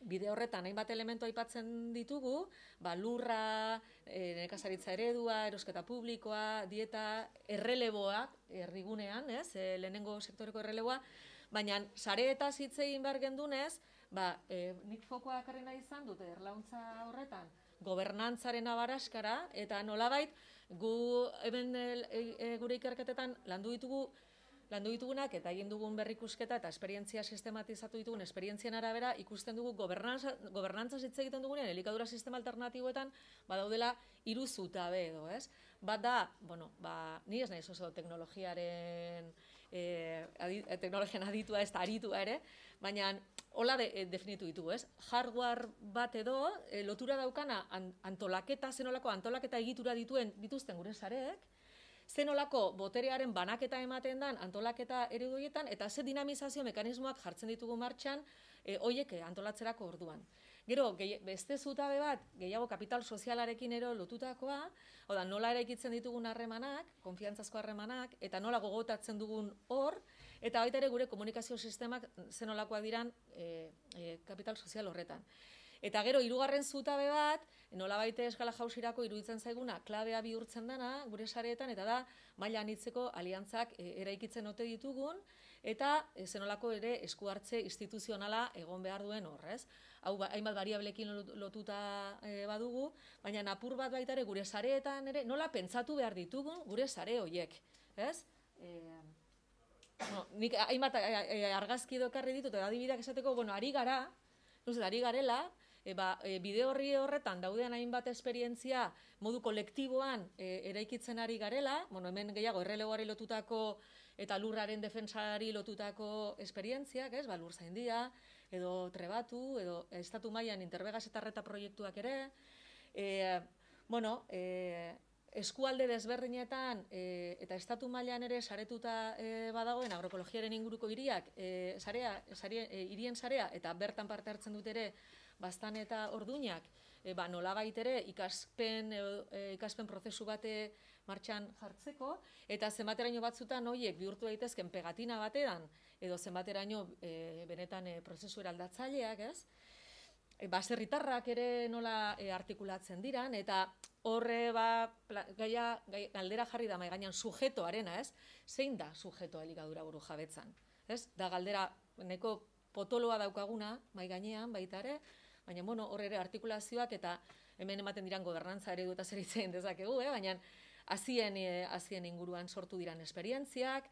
bide horretan hainbat elementu aipatzen ditugu, lurra, nekazaritza eredua, erosketa publikoa, dieta, erreleboa, herrigunean, ez? Lehenengo sektoreko erreleboa, baina sareetaz hitz egin behar gendunez, nik fokoa ekarri nahi izan dute erlauntza horretan, gobernantzaren abaraskara, eta nolabait, gu hemen gure ikerketetan landu ditugunak eta egin dugun berrikusketa eta esperientzia sistematizatu ditugun esperientzien arabera ikusten dugu gobernantzaz hitz egiten dugunean elikadura sistema alternatiboetan badaudela 3 zutabe edo, ez? Bat da, ni ez naiz oso teknologian aditua ez da aritua ere, baina hola definitu ditugu, ez? Hardware bat edo lotura daukana zenolako antolaketa egitura dituzten gure sareek, zenolako boterearen banaketa ematen dan antolaketa ereduietan, eta ze dinamizazio mekanismoak jartzen ditugu martxan hoiek antolatzerako orduan. Gero, beste zutabe bat, gehiago kapital sozialarekin ero lotutakoa, nola eraikitzen ditugun harremanak, konfiantzazko harremanak, eta nola gogotatzen dugun hor, eta baita ere gure komunikazio sistemak zenolakoak diran kapital sozial horretan. Eta gero, 3. zutabe bat, nolabait eskala jausirako iruditzen zaiguna, klabea bihurtzen dana, gure sareetan, eta da, maila anitzeko aliantzak eraikitzen ote ditugun, eta zenolako ere esku hartze instituzionala egon behar duen horrez. Hau, hainbat variablekin lotuta badugu, baina apur bat baita ere gure sareetan ere, nola pentsatu behar ditugun gure sare horiek, ez? Nik hainbat argazki dokarri ditut, eta adibideak esateko, ari garela, bide horretan daudean hainbat esperientzia modu kolektiboan eraikitzen ari garela, hemen gehiago errelegoari lotutako eta lurraren defensari lotutako esperientziak, ez? Lur zaindia, edo trebatu, edo estatu mailan interbegaz eta arreta proiektuak ere, eskualde desberdinetan eta estatu mailan ere saretuta badagoen agroekologiaren inguruko hiriak, hirien sarea, eta bertan parte hartzen dut ere Baztan eta Orduñak, nolabait ere ikaspen prozesu bate martxan jartzeko, eta zenbateraino batzutan horiek bihurtu daitezken pegatina batean, edo zenbateraino benetan prozesu eraldatzaileak, ez? baserritarrak ere nola artikulatzen diran, eta horre galdera jarri da mai gainean sujetoarena, ez? Zein da sujetoa elikadura burujabetzan? Ez? Da galdera neko potoloa daukaguna mai gainean baita ere, baina hor ere artikulazioak eta hemen ematen diran gobernantza eredu eta zer hitz egin dezakegu, baina hazien inguruan sortu diran esperientziak,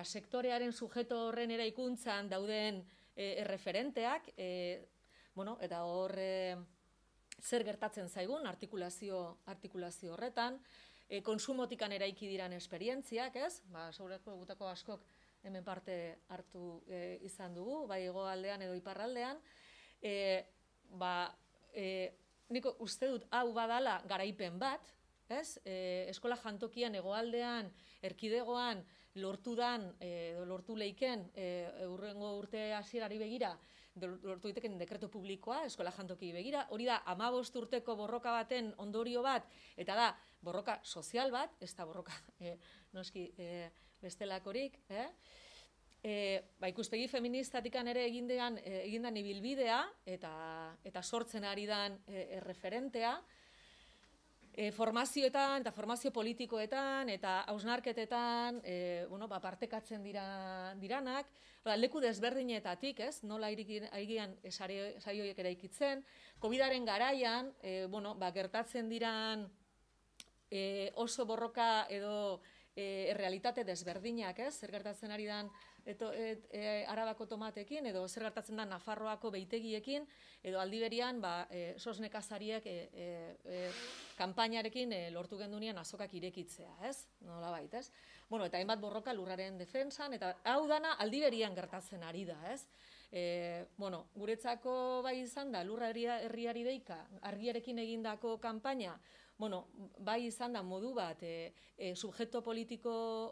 sektorearen sujeto horren eraikuntzan dauden erreferenteak, eta hor zer gertatzen zaigun artikulazio horretan, konsumotikan eraiki diran esperientziak, ez? Segurako gutako askok hemen parte hartu izan dugu, bai hegoaldean edo iparraldean, nik uste dut hau badala garaipen bat, ez? Eskola jantokian hegoaldean, erkidegoan, lortu leiken hurrengo urte hasierari begira, lortu diteken dekreto publikoa, eskola jantoki begira, hori da 15 urteko borroka baten ondorio bat, eta da borroka sozial bat, ez da borroka noski bestelakorik, ikuspegi feministatikan ere egindan ibilbidea, eta sortzen ari dan erreferentea, formazioetan eta formazio politikoetan eta hausnarketetan partekatzen diranak, leku desberdinetatik, ez? Nola aigian saioiek eraikitzen, COVID-aren garaian, gertatzen diran oso borroka edo errealitate desberdinak, ez? Zer gertatzen ari dan Arabako tomatekin, edo zer gertatzen da Nafarroako beitegiekin, edo aldiberian sos nekazariek kanpainarekin lortu gendunean azokak irekitzea, ez? Nolabait, ez? Eta hainbat borroka lurraren defentsan, eta hau dana aldiberian gertatzen ari da, ez? Guretzako bai izan da, lurra herriari deika, argiarekin egindako kanpaina, bai izan da modu bat, subjektu politiko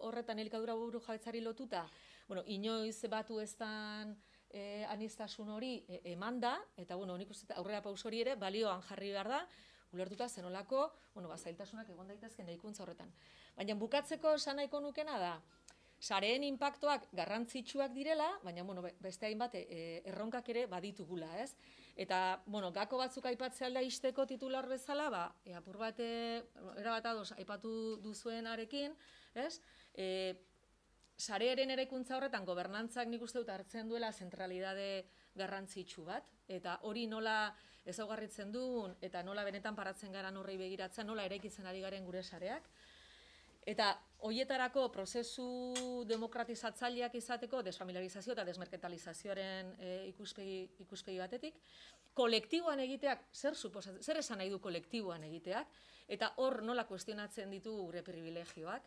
horretan elikadura burujabetzari lotuta, inoiz batu eztan anistasun hori eman da, eta nik uste aurrera paus hori ere balioan jarri behar da, ulertuta zenolako, zailtasunak egon daitezken eraikuntza horretan. Baina bukatzeko esan nahiko nukena da, sareen inpaktuak garrantzitsuak direla, baina beste hainbat erronkak ere baditugula, ez? Eta, gako batzuk aipatzea alda isteko titular bezala, apur bat, erabat ados aipatu duzuenarekin, ez? Sarearen eraikuntza horretan gobernantzak nik uste dut hartzen duela zentralidade garrantzitsu bat, eta hori nola ezaugarritzen duen, eta nola benetan paratzen gara horrei begiratzen, nola eraikitzen ari garen gure sareak. Eta horietarako prozesu demokratizatzaileak izateko desfamiliarizazio eta desmerkantalizazioaren ikuspegi batetik, kolektiboan egiteak, zer esan nahi du kolektiboan egiteak, eta hor nola kuestionatzen ditu gure privilegioak,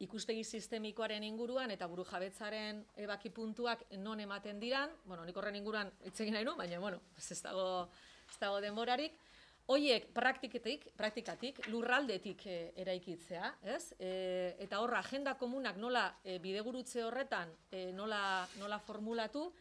ikuspegi sistemikoaren inguruan eta burujabetzaren ebaki puntuak non ematen diran, nik horren inguruan hitz egin nahi nu, baina, ez dago denborarik, hoiek praktikatik, lurraldetik eraikitzea, ez? Eta horra, agenda komunak nola bidegurutze horretan nola formulatu,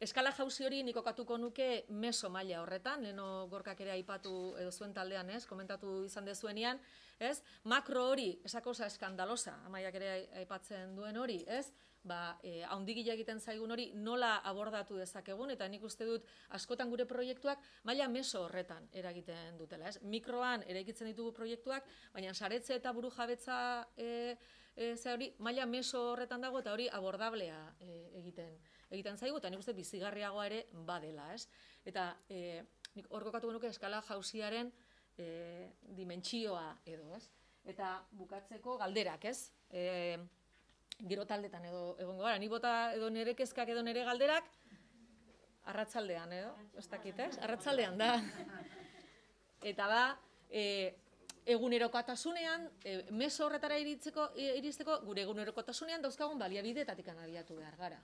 eskala jauzi hori nik kokatuko nuke meso maila horretan, leheno Gorkak ere aipatu edo zuen taldean, ez? Komentatu izan dezuenean, ez? Makro hori, esa cosa eskandalosa, Amaiak ere aipatzen duen hori, ez? Haundikila egiten zaigun hori nola abordatu dezakegun, eta nik uste dut askotan gure proiektuak maila meso horretan eragiten dutela, ez? Mikroan eraikitzen ditugu proiektuak, baina saretze eta burujabetza hori maila meso horretan dago, eta hori abordablea egiten zaigu, eta nik uste bizigarriagoa ere badela, ez? Eta nik hor kokatu genuke eskala jauziaren dimentsioa edo, ez? Eta bukatzeko galderak, ez? Gero taldetan edo egongo gara, ni bota edo nire kezkak edo nire galderak, arratsaldean edo, ez dakit, ez? Arratsaldean da. Eta da, egunerokotasunean, meso horretara iristeko, gure egunerokotasunean dauzkagun baliabidetatik abiatu behar gara.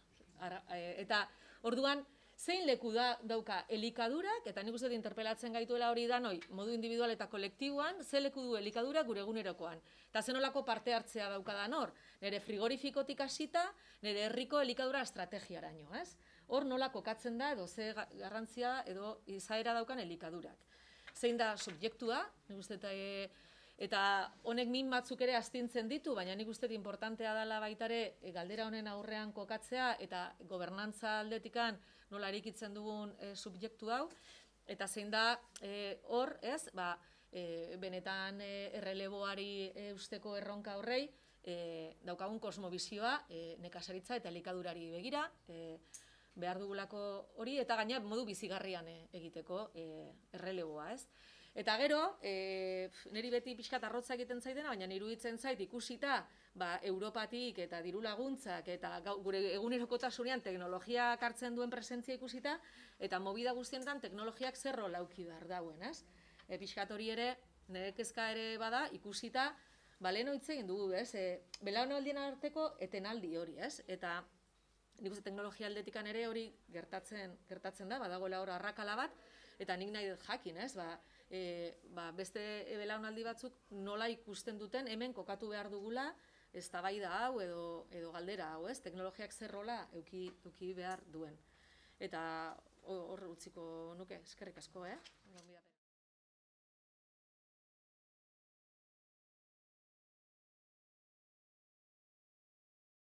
Eta orduan, zein leku dauka elikadurak, eta nik uste interpelatzen gaituela hori da noi, modu individual eta kolektiboan, ze leku du elikadura gure egunerokoan. Eta zenolako parte hartzea daukadan hor, nire frigorifikotik hasita, nire herriko elikadura estrategiaraino, ez? Hor nola kokatzen da edo ze garrantzia edo izaera daukan elikadurak. Zein da subjektua, nik uste Eta honek min batzuk ere astintzen ditu, baina nik uste importantea dela baitare galdera honen aurrean kokatzea eta gobernantza aldetikan nola erikitzen dugun subjektu hau, eta zein da hor, ez, benetan erreleboari eusteko erronka horrei, daukagun kosmobizioa nekazaritza eta elikadurari begira, behar dugulako hori, eta gaina modu bizigarrian egiteko erreleboa, ez? Eta gero, niri beti pixkat arrotza egiten zaidena, baina iruditzen zait ikusita Europatik eta diru laguntzak eta gure egunerokotasunean teknologiak hartzen duen presentzia ikusita, eta movida guztienetan teknologiak zer rola eduki behar dauen, ez? Pixkat hori ere, nire kezka ere bada, ikusita, lehen hitz egin dugu, ez? Belaunaldien arteko etenaldi hori, ez? Eta nik uste teknologia aldetikan ere hori gertatzen da, badagoela hor arrakala bat, eta nik nahi dut jakin, ez? Beste belaunaldi batzuk nola ikusten duten hemen kokatu behar dugula eztabaida hau edo galdera hau, ez? Teknologiak zer rola eduki behar duen. Eta hor utziko nuke, eskerrik asko,